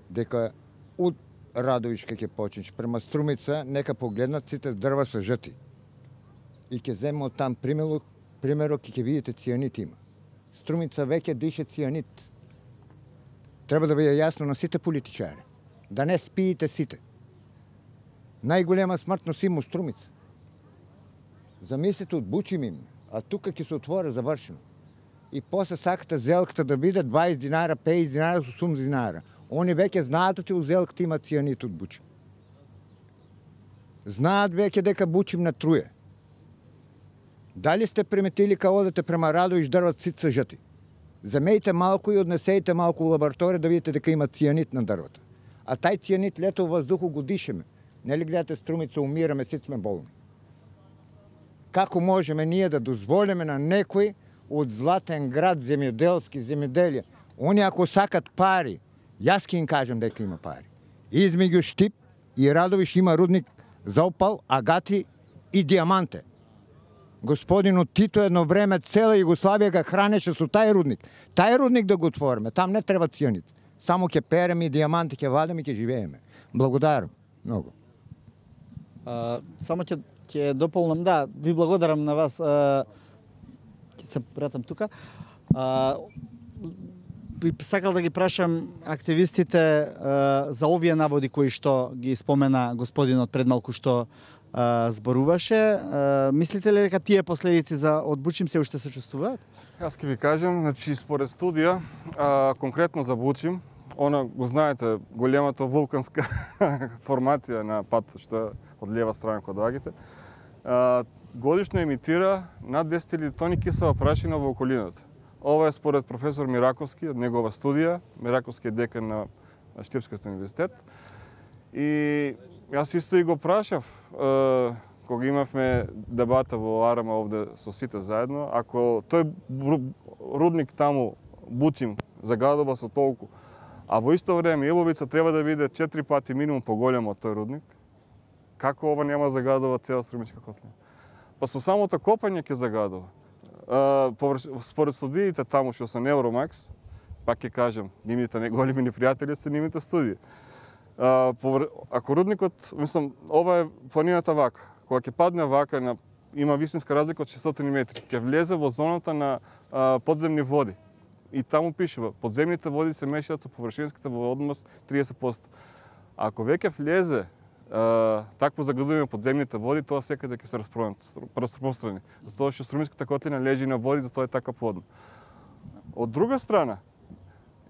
дека од Радовичка ќе почнеш према Струмица, нека погледнат сите дрва се жати. И ќе земе од там примерок и ќе видите цијанит има. Струмица веќе дише цијанит. Треба да биде јасно на сите политичари. Да не спиите сите. Најголема смртност има у Струмица. Замислите од Бучим им, а тука ќе се отвори завршено. И после сакате зелката да биде 20 динара, 50 динара, 80 динара. Они веќе знаат дека у зелката има цијанит од Бучим. Знаат веќе дека Бучим натруе. Дали сте приметили као одете према Радовиш дрват сите се жати? Замејте малку и однесејте малку у лабораторија да видите дека има цијанит на дрвата. А тај цијанит лето во воздуху го дишеме. Нели гледате Струмица, умираме, сите сме болни. Како можеме ние да дозволиме на некој од Златен град земјоделие, они ако сакат пари, јас ќе им кажам дека има пари. Измеѓу Штип и Радовиш има рудник за опал, агати и диаманте. Господинот Тито едно време цела Југославија га хранеше со тај рудник. Тај рудник да го отвориме, там не треба цијанит. Само ќе переме и диаманти, ќе вадиме и ќе живееме. Благодарам многу. Само ќе дополнам, да, ви благодарам на вас. Ќе се вратам тука. Би сакал да ги прашам активистите за овие наводи кои што ги спомена господинот пред малку што зборуваше. Мислите ли дека тие последици од Бучим се уште се чувствуваат? Јас ќе ви кажам, значи според студија, конкретно за Бучим, она го знаете, големата вулканска формација на пат што е од лева страна кod Агите, годишно емитира над 10.000 тони кисела прашина во околината. Ова е според професор Мираковски, од негова студија. Мираковски е декан на Штипскиот универзитет. И јас исто и го прашав, кога имавме дебата во Арама овде со сите заедно, ако тој рудник таму, Бучим, загадува со толку, а во исто време Иловица треба да биде 4 пати минимум поголема од тој рудник, како ова нема загадува цела Струмичка котлина? Па со самото копање ќе загадува. Според студиите таму што се Невромакс, пак ќе кажам, нивните неголеми непријатели се нивните студии. Ако рудникот, мислам, ова е планината вака. Кога ќе падне вака, има висинска разлика од 600 метри, ќе влезе во зоната на подземни води. И таму пишува, подземните води се мешаат со површинските во однос 30%. Ако веќе влезе такво загадување подземните води, тоа секаде ќе се распространи. Затоа што Струмиската котлина лежи на води, затоа е така плодна. Од друга страна,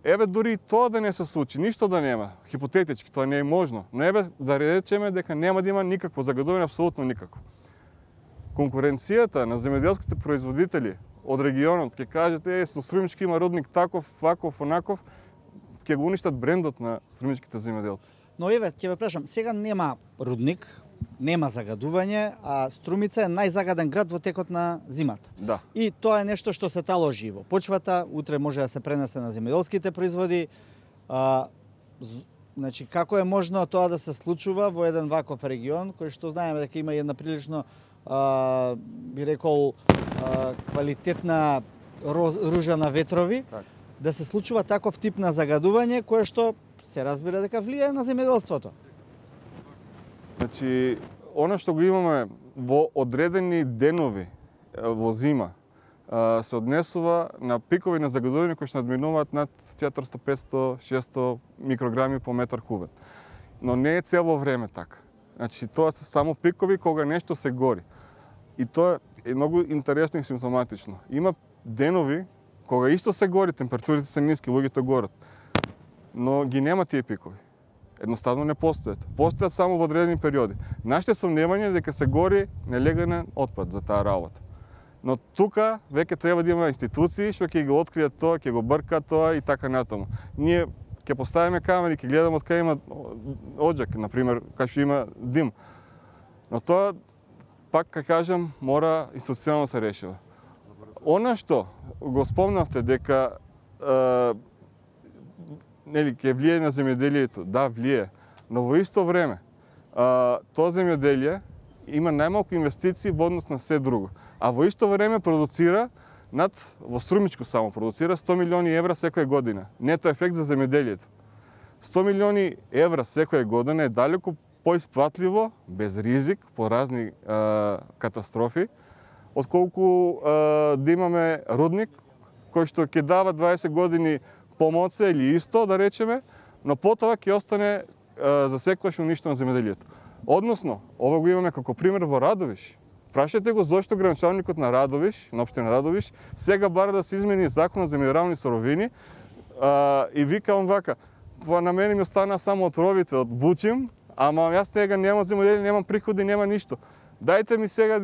еве дури и тоа да не се случи, ништо да нема, хипотетички, тоа не е можно, но еве да речеме дека нема да има никакво загадување, апсолутно никакво. Конкуренцијата на земјоделските производители од регионот ќе кажат, со Струмички има рудник таков, ваков, онаков, ќе го уништат брендот на струмичките земјоделци. Но еве, ќе ве прашам, сега нема рудник, нема загадување, а Струмица е најзагаден град во текот на зимата. Да. И тоа е нешто што се таложи во почвата, утре може да се пренесе на земјоделските производи. Значи, како е можно тоа да се случува во еден ваков регион, кој што знаеме дека има една прилично, би рекол, квалитетна ружа на ветрови, да се случува таков тип на загадување, кое што се разбира дека влијае на земјоделството. Значи, она што го имаме во одредени денови во зима, се однесува на пикови на загадување кои што надминуваат над 400, 500, 600 микрограми по метар кубен. Но не е цело време така. Значи, тоа се само пикови кога нешто се гори. И тоа е многу интересно и симптоматично. Има денови кога исто се гори, температурите се ниски, луѓето горат, но ги нема тие пикови. Едноставно не постојат. Постојат само во одредени периоди. Нашите сомневање дека се гори нелегален отпад за таа работа. Но тука веќе треба да има институции што ќе го откријат тоа, ќе го бркаат тоа и така натаму. Ние ќе поставиме камери, ќе гледаме од кај има оџак, например, кај што има дим. Но тоа, пак ка кажам, мора институционално се решава. Она што го спомнавте дека ќе влие на земјоделието, да, влие, но во исто време тоа земјоделие има најмалку инвестиции во однос на се друго. А во исто време продуцира во Струмичко само продуцира 100 милиони евра секоја година. Нето ефект за земјоделието. 100 милиони евра секоја година е далеку поисплатливо, без ризик, по разни катастрофи, отколку да имаме рудник кој што ќе дава 20 години помоце или исто, да речеме, но потоа ќе остане за секогаш уништено земјоделието. Односно, ова го имаме како пример во Радовиш. Прашајте го зошто граничалникот на Радовиш, на општина Радовиш, сега бара да се измени законот за минерални суровини и вика он вака, па на мене ми остана само отровите од Бучим, ама јас сега немам земјоделие, немам приходи, нема ништо. Дајте ми сега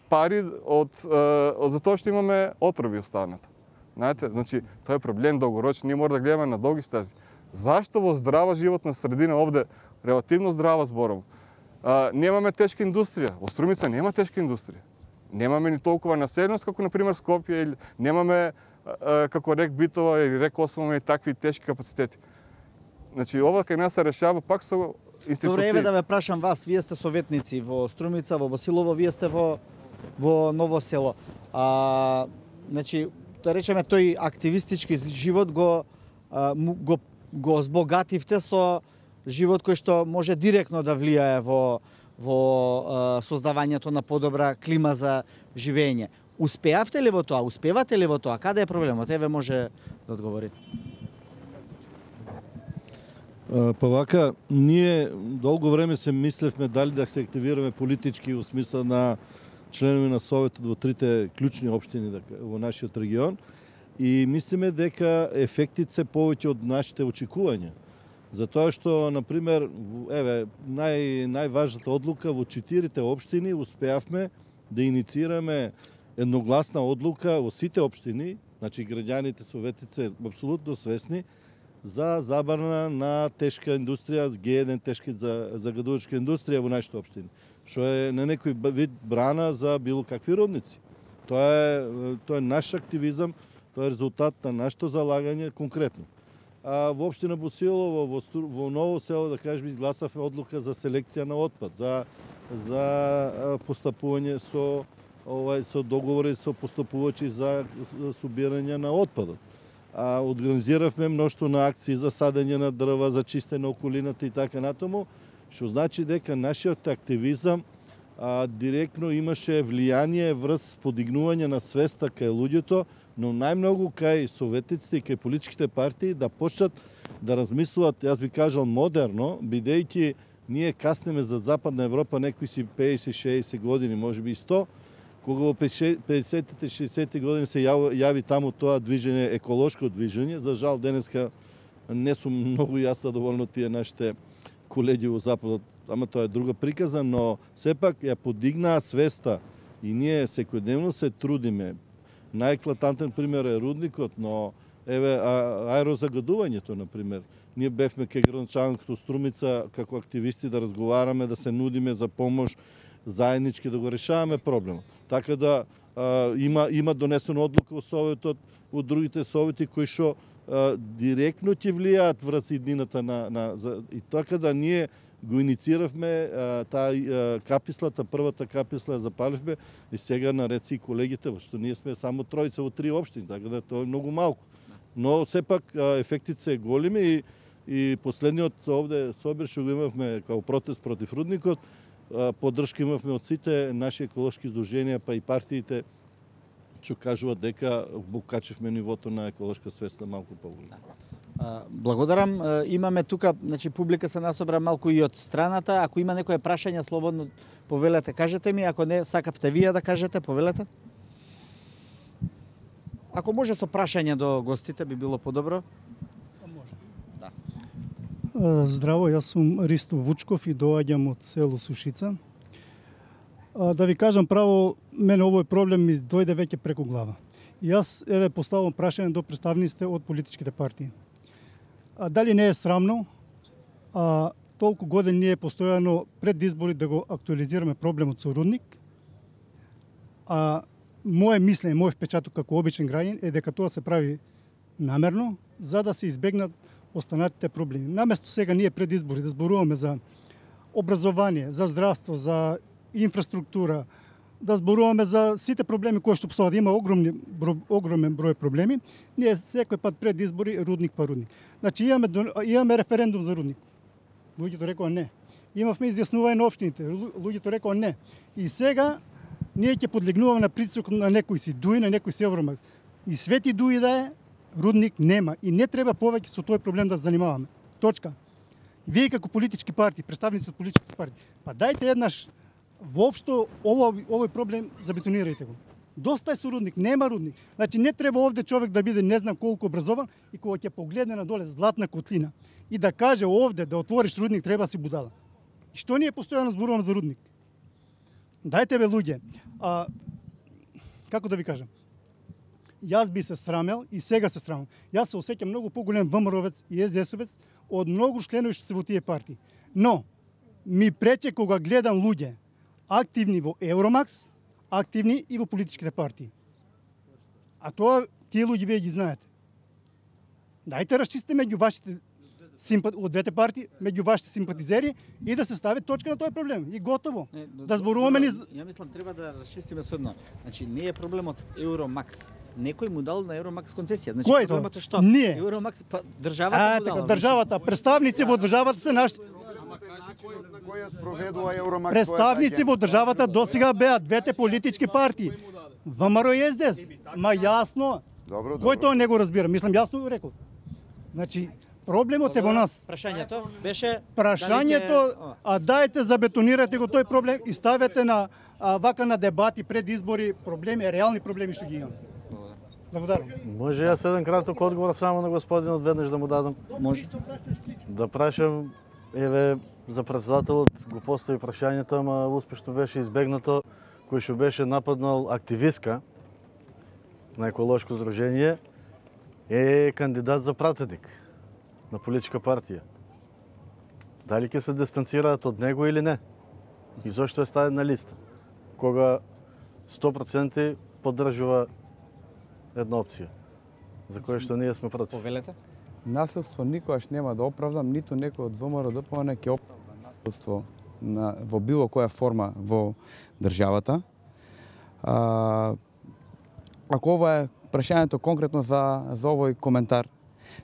пари за тоа што имаме отрови останата. Знаете, значи, тоа е проблем долгорочен, ние мора да гледаме на долги стази. Зашто во здрава животна средина овде, релативно здрава зборам, немаме тешка индустрија? Во Струмица нема тешка индустрија. Немаме ни толкова населеност како на пример Скопје или немаме како рек Битова или рек Осмоме и такви тешки капацитети. Значи ова кај нас се решава пак со институции. Добре, еве да ве прашам вас, вие сте советници во Струмица, во Босилово, вие сте во Ново село. Значи, да речеме тој активистички живот го збогативте со живот кој што може директно да влијае во создавањето на подобра клима за живење. Успеавте ли во тоа? Успевате ли во тоа? Каде е проблемот? Еве може да одговорите. Па вака, ние долго време се мислевме дали да се активираме политички во смисла на членови на Советот во трите клучни општини во нашиот регион и мислиме дека ефектите се повеќе од нашите очекувања. Затоа што, например, еве, најважната одлука во 4 општини успеавме да инициираме едногласна одлука во сите општини, значи граѓаните советици апсолутно свесни, за забрана на тешка индустрија, Г1 тешка загадувачка индустрија во нашите општини, што е на некој вид брана за било какви родници. Тоа е наш активизам, тоа е резултат на нашето залагање конкретно. А во општина Босилово, во Ново село, да кажем, изгласавме одлука за селекција на отпад, за постапување со договори со постапувачи за собирање на отпадот. Организиравме мноштво на акции за садење на дрва, за чистење на околината и така натаму, што значи дека нашиот активизам директно имаше влијание врз подигнување на свеста кај луѓето, но најмногу кај советниците и кај политичките партии да почнат да размислуваат, јас би кажал модерно, бидејќи ние каснеме за Западна Европа некои си 50-60 години, можеби и 100, кога во 50-те, 60-те години се јави таму тоа движење, еколошко движење. За жал денеска не сум многу јас задоволен од тие нашите колеги во Западот, ама тоа е друга приказна, но сепак ја подигнаа свеста и ние секојдневно се трудиме. Најеклатантен пример е рудникот, но еве аерозагадувањето, например. Ние бевме кај градоначалникот Струмица како активисти да разговараме, да се нудиме за помош, заеднички да го решаваме проблемот. Така да има донесена одлука во Советот, во другите совети кои што директно ќе влијаат врз иднината и така да ние го иницииравме таа капислата, првата каписла ја запаливме и сега наред си колегите, што ние сме само тројца во 3 општини, така да тоа е многу малку. Но сепак ефектите се големи и последниот овде собир што го имавме како протест против рудникот, поддршка имавме од сите наши еколошки издруженија, па и партиите, што кажуваат дека го качевме нивото на еколошка свест на малку поголемо. Благодарам. Имаме тука, значи публика се насобра малку и од страната. Ако има некое прашање, слободно повелете, кажете ми. Ако не сакавте вие да кажете, повелете. Ако може со прашање до гостите би било подобро. Здраво, јас сум Ристо Вучков и доаѓам од село Сушица. Да ви кажам право, мене овој проблем ми дојде веќе преку глава. И јас еве поставам прашање до представниците од политичките партии. Дали не е срамно, толку години ние постојано пред избори да го актуализираме проблемот со рудник, моје мислење, мој впечаток како обичен граѓанин е дека тоа се прави намерно, за да се избегнат останатите проблеми. Наместо сега ние пред избори да зборуваме за образование, за здравство, за инфраструктура, да зборуваме за сите проблеми кои што постојат, има огромен број проблеми, ние секој пат пред избори рудник па рудник. Значи имаме референдум за рудник. Луѓето рекоа не. Имавме изјаснување на општините, луѓето рекоа не. И сега ние ќе подлегнуваме на притисок на некој си Дуи, на некој си Евромакс. И Свети Дуи да е, рудник нема и не треба повеќе со тој проблем да се занимаваме. Точка. Вие како политички партии, представници од политички партии, па дајте еднаш воопшто овој проблем забетонирајте го. Доста е со рудник, нема рудник. Значи не треба овде човек да биде не знам колку образован и кога ќе погледне надоле златна котлина и да каже овде да отвориш рудник треба си будала. И што ние постојано зборуваме за рудник? Дајте бе луѓе. Како да ви кажам? Јас би се срамел и сега се срамел. Јас се осеќам многу поголем ВМРО-вец и СДС-овец од многу членови што се во тие партии. Но ми прече кога гледам луѓе активни во Евромакс, активни и во политичките партии. А тоа тие луѓе вие ги знаете. Дајте расчистите меѓу вашите од двете партии, меѓу вашите симпатизери и да се стави точка на тој проблем. И готово. Да зборуваме ни... Ја мислам треба да расчистиме со едно. Значи не е проблемот Евромакс. Некој му дал на Евромакс концесија. Значи Кој е проблемот е што? Ние. Евромакс, па државата му дала. Државата, представници во државата се наши. На која спроведува Евромакс? Представници во државата досега беа двете политички партии. ВМРО и СДС. Ма јасно. Добро, Кој добро. тоа не го разбира? Мислам јасно го рекол. Значи проблемот е во нас. Прашањето беше Прашањето, а дајте забетонирате го тој проблем и ставете на вака на дебати пред избори проблеми, реални проблеми што ги имаме. Благодарам. Може јас еден краток одговор само на господинот веднаш да му дадам? Може. Да прашам, еве, за председателот го постави прашањето, ама успешно беше избегнато, кој што беше нападнал активистка на еколошко здружение, е кандидат за пратеник на политичка партија. Дали ќе се дистанцираат од него или не? И зошто е ставен на листа? Кога 100% поддржува една опција, за која што ние сме против. Повелете. Насилство никогаш нема да оправдам, ниту некој од ВМРО-ДПМН ќе оправда насилство во било која форма во државата. Ако ова е прашањето конкретно за овој коментар,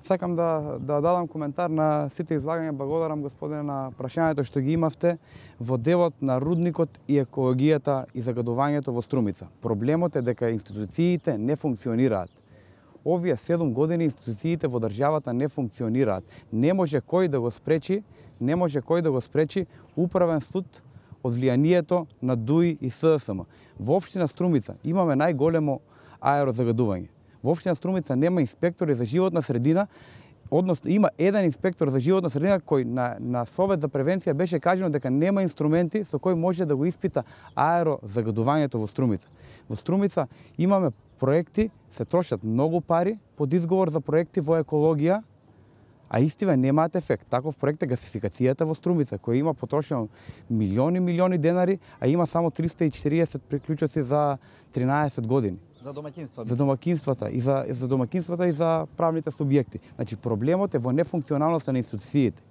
сакам да дадам коментар на сите излагања. Благодарам господине на прашањето што ги имавте во делот на рудникот и екологијата и загадувањето во Струмица. Проблемот е дека институциите не функционираат. Овие 7 години институциите во државата не функционираат. Не може кој да го спречи управен суд од влијанието на ДУИ и СДСМ. Во општина Струмица имаме најголемо аерозагадување. Во општина Струмица нема инспектори за животна средина, односно има еден инспектор за животна средина кој на Совет за превенција беше кажано дека нема инструменти со кои може да го испита аерозагадувањето во Струмица. Во Струмица имаме проекти, се трошат многу пари под изговор за проекти во екологија, а истиве немаат ефект. Таков проект е гасификацијата во Струмица, која има потрошено милиони денари, а има само 340 приклучоци за 13 години. За домаќинствата. За домаќинствата и за правните субјекти. Значи проблемот е во нефункционалноста на институциите.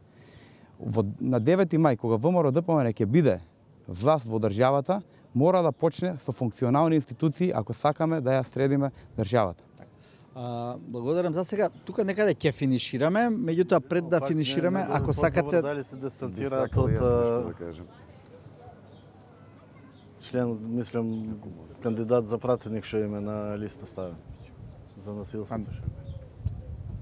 На 9 мај, кога ВМРО-ДПМН ќе биде власт во државата, мора да почне со функционални институции ако сакаме да ја средиме државата. Благодарам за сега. Тука некаде ќе финишираме, меѓутоа пред да финишираме, ако сакате дали се дистанцираат од член, мислам, кандидат за пратеник што име на листа ставен за насилството.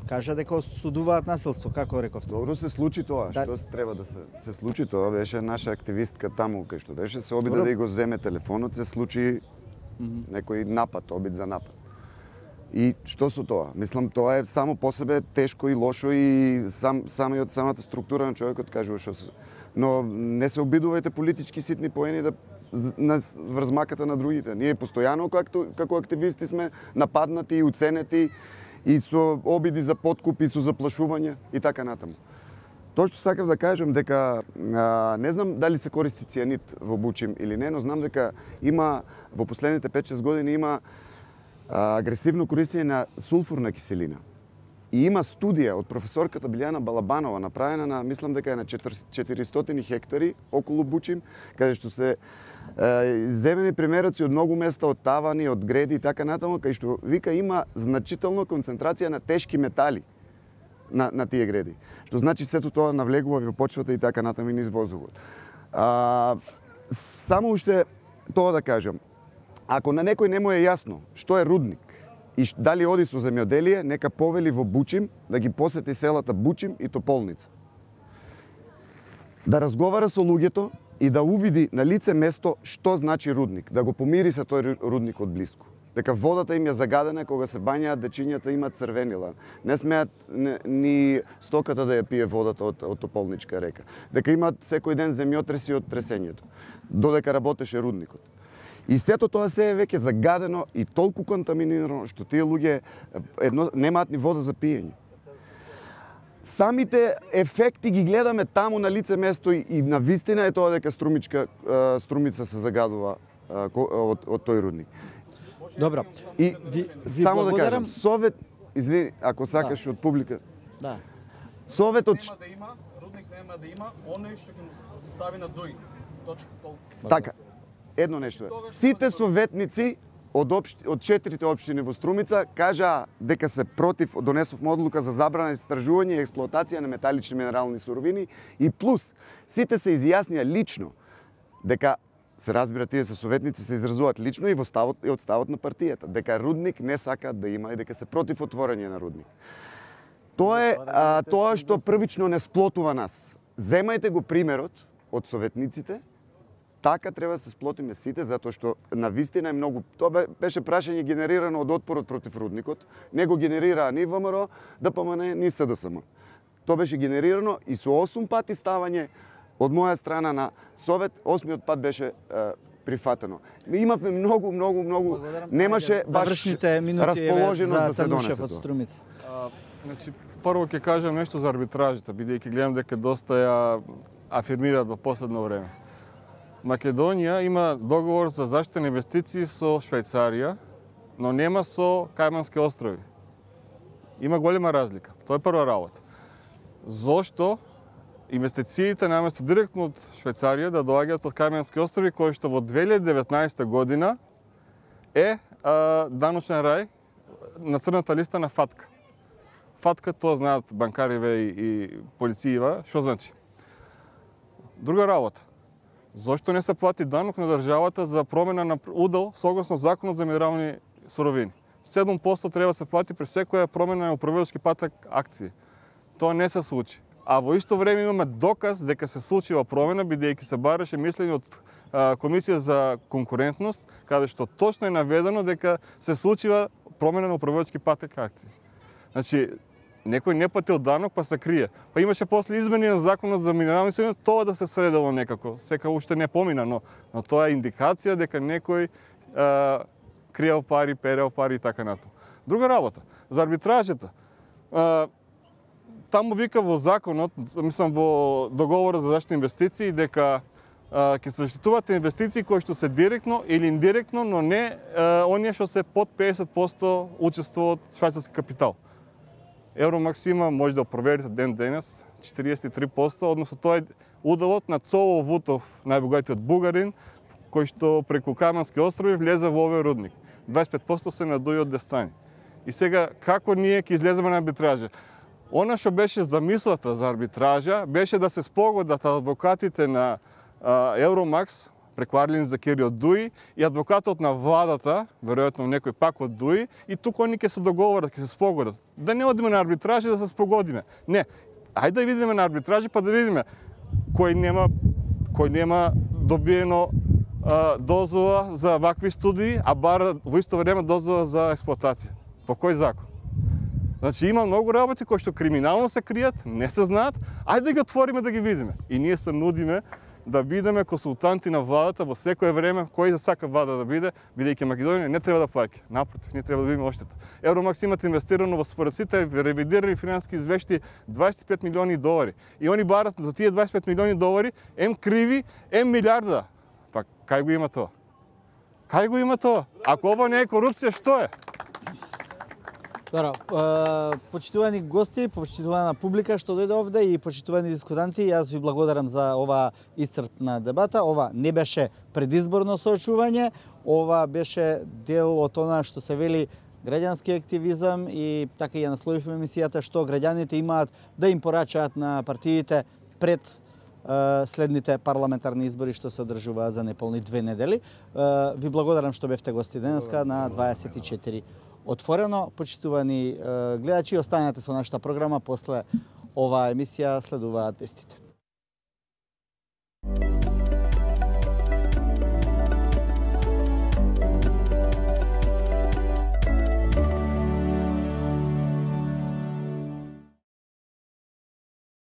Кажа дека осудуваат насилство, како рековте. Добро се случи тоа, што треба да се случи тоа, беше наша активистка таму кај што беше, се обида да и го земе телефонот, се случи некој напад, обид за напад. И што со тоа? Мислам, тоа е само по себе тешко и лошо и самиот самата структура на човекот кажува што се... Но не се обидувајте политички ситни поени да врз маката на другите. Ние постојано како активисти сме нападнати и уценети и со обиди за подкуп и со заплашување и така натаму. Тоа што сакав да кажам дека не знам дали се користи цијанид во Бучим или не, но знам дека има во последните 5-6 години има агресивно користење на сулфурна киселина. И има студија од професорката Билјана Балабанова направена на, мислам дека е на 400 хектари околу Бучим, каде што се земени примероци од многу места, од тавани, од греди и така натаму, кај што вика има значителна концентрација на тешки метали на тие греди. Што значи сето тоа навлегува во почвата и така натаму и низ воздухот. Само уште тоа да кажам. Ако на некој не му е јасно што е рудник и дали оди со земјоделие, нека повели во Бучим да ги посети селата Бучим и Тополница. Да разговара со луѓето и да увиди на лице место што значи рудник, да го помири се тој рудник од блиску. Дека водата им е загадена, кога се бањаат дечињата имаат црвенила. Не смеат ни стоката да ја пие водата од Тополничка река. Дека имаат секој ден земјотреси од тресењето, додека работеше рудникот. И сето тоа се е веќе загадено и толку контаминирано што тие луѓе немаат ни вода за пиење. Самите ефекти ги гледаме таму на лице место и на вистина е тоа дека Струмица се загадува од тој рудник. Добро. И ви само да благодарам. кажам, совет, извини, ако сакаш од публика. Да. Советот Нема да има, рудник нема да има, оној што ќе му стави на дуј. Точка, толку. така, едно нешто е. Сите советници од 4 општини во Струмица кажаа дека се против, донесовме одлука за забрана истражување и експлоатација на металични минерални суровини и плюс сите се изјаснија лично дека се разбира тие се советници се изразуваат лично и во ставот и од ставот на партијата дека рудник не сакаат да има и дека се против отворање на рудник. Тоа е тоа што првично не сплотува нас. Земајте го примерот од советниците. Така треба да се сплотиме сите, затоа што на вистина е многу... Тоа беше прашање генерирано од отпорот против рудникот. Не го генерираа ни ВМРО, ДПМН, ни СДСМ. Тоа беше генерирано и со 8 пати ставање од моја страна на Совет, 8-миот пат беше прифатено. Имавме многу, немаше баш расположеност да се донесе тоа. Значи, прво ќе кажам нешто за арбитражата, бидејќи гледам дека доста ја афирмираат во последно време. Македонија има договор за заштита на инвестиции со Швајцарија, но нема со Кајмански острови. Има голема разлика. Тоа е прва работа. Зошто инвестициите наместо директно од Швајцарија да доаѓаат од Кајмански острови, кој што во 2019 година е даночен рај на црната листа на ФАТКА. ФАТКА, тоа знаат банкариве и полицијива, што значи. Друга работа. Зошто не се плати данок на државата за промена на удел согласно Законот за минерални суровини? 7% треба да се плати при секоја промена на управителски патек акции. Тоа не се случи. А во исто време имаме доказ дека се случила промена, бидејќи се бараше мислење од Комисија за конкурентност, каде што точно е наведено дека се случила промена на управителски патек акции. Значи, некој не платил данок, па се крие. Па имаше после измени на Законот за минерални суровини, тоа да се средало некако. Сека уште не помина, но тоа е индикација дека некој криел пари, перел пари и така натаму. Друга работа, за арбитражата. Таму вика во законот, мислам во договорот за заштита инвестиции, дека ќе се заштитуваат инвестиции кои што се директно или индиректно, но не оние што се под 50% учество од швајцарски капитал. Евромакс има, може да проверите ден денес, 43%, односно тоа е уделот на Цоло Вутов, најбогатиот бугарин, кој што преку Кајмански острови влезе во овој рудник. 25% се надуи од Дестани. И сега, како ние ќе излеземе на арбитража? Она што беше замислата за арбитража, беше да се спогодат адвокатите на Евромакс, преку Арлин Закири од ДУИ, и адвокатот на владата, веројатно некој пак од ДУИ, и тука они ќе се договорат, ќе се спогодат. Да не одиме на арбитражи да се спогодиме. Не, ајде да видиме на арбитражи па да видиме кој нема добиено дозвола за вакви студии, а бара во исто време дозвола за експлоатација. По кој закон? Значи има многу работи кои што криминално се кријат, не се знаат, ајде да ги отвориме да ги видиме. И ние се нудиме да бидеме консултанти на владата во секое време, кој да сака влада да биде, бидејќи Македонија не треба да плаќа. Напротив, ние треба да бидеме оштета. Евромакс имат инвестирано во според сите ревидирани финансиски извешти 25 милиони долари. И они барат за тие 25 милиони долари ем криви, ем милиарда. Па кај го има тоа? Кај го има тоа? Ако ова не е корупција, што е? Добро, почитувани гости, почитувана публика што дојде овде и почитувани дискутанти, јас ви благодарам за ова исцрпна дебата. Ова не беше предизборно соочување, ова беше дел од она што се вели граѓански активизам и така ја насловивме емисијата што граѓаните имаат да им порачаат на партиите пред следните парламентарни избори што се одржуваат за неполни 2 недели. Ви благодарам што бевте гости денеска на 24 Отворено. Почитувани гледачи, останете со нашата програма, после оваа емисија следуваат вестите.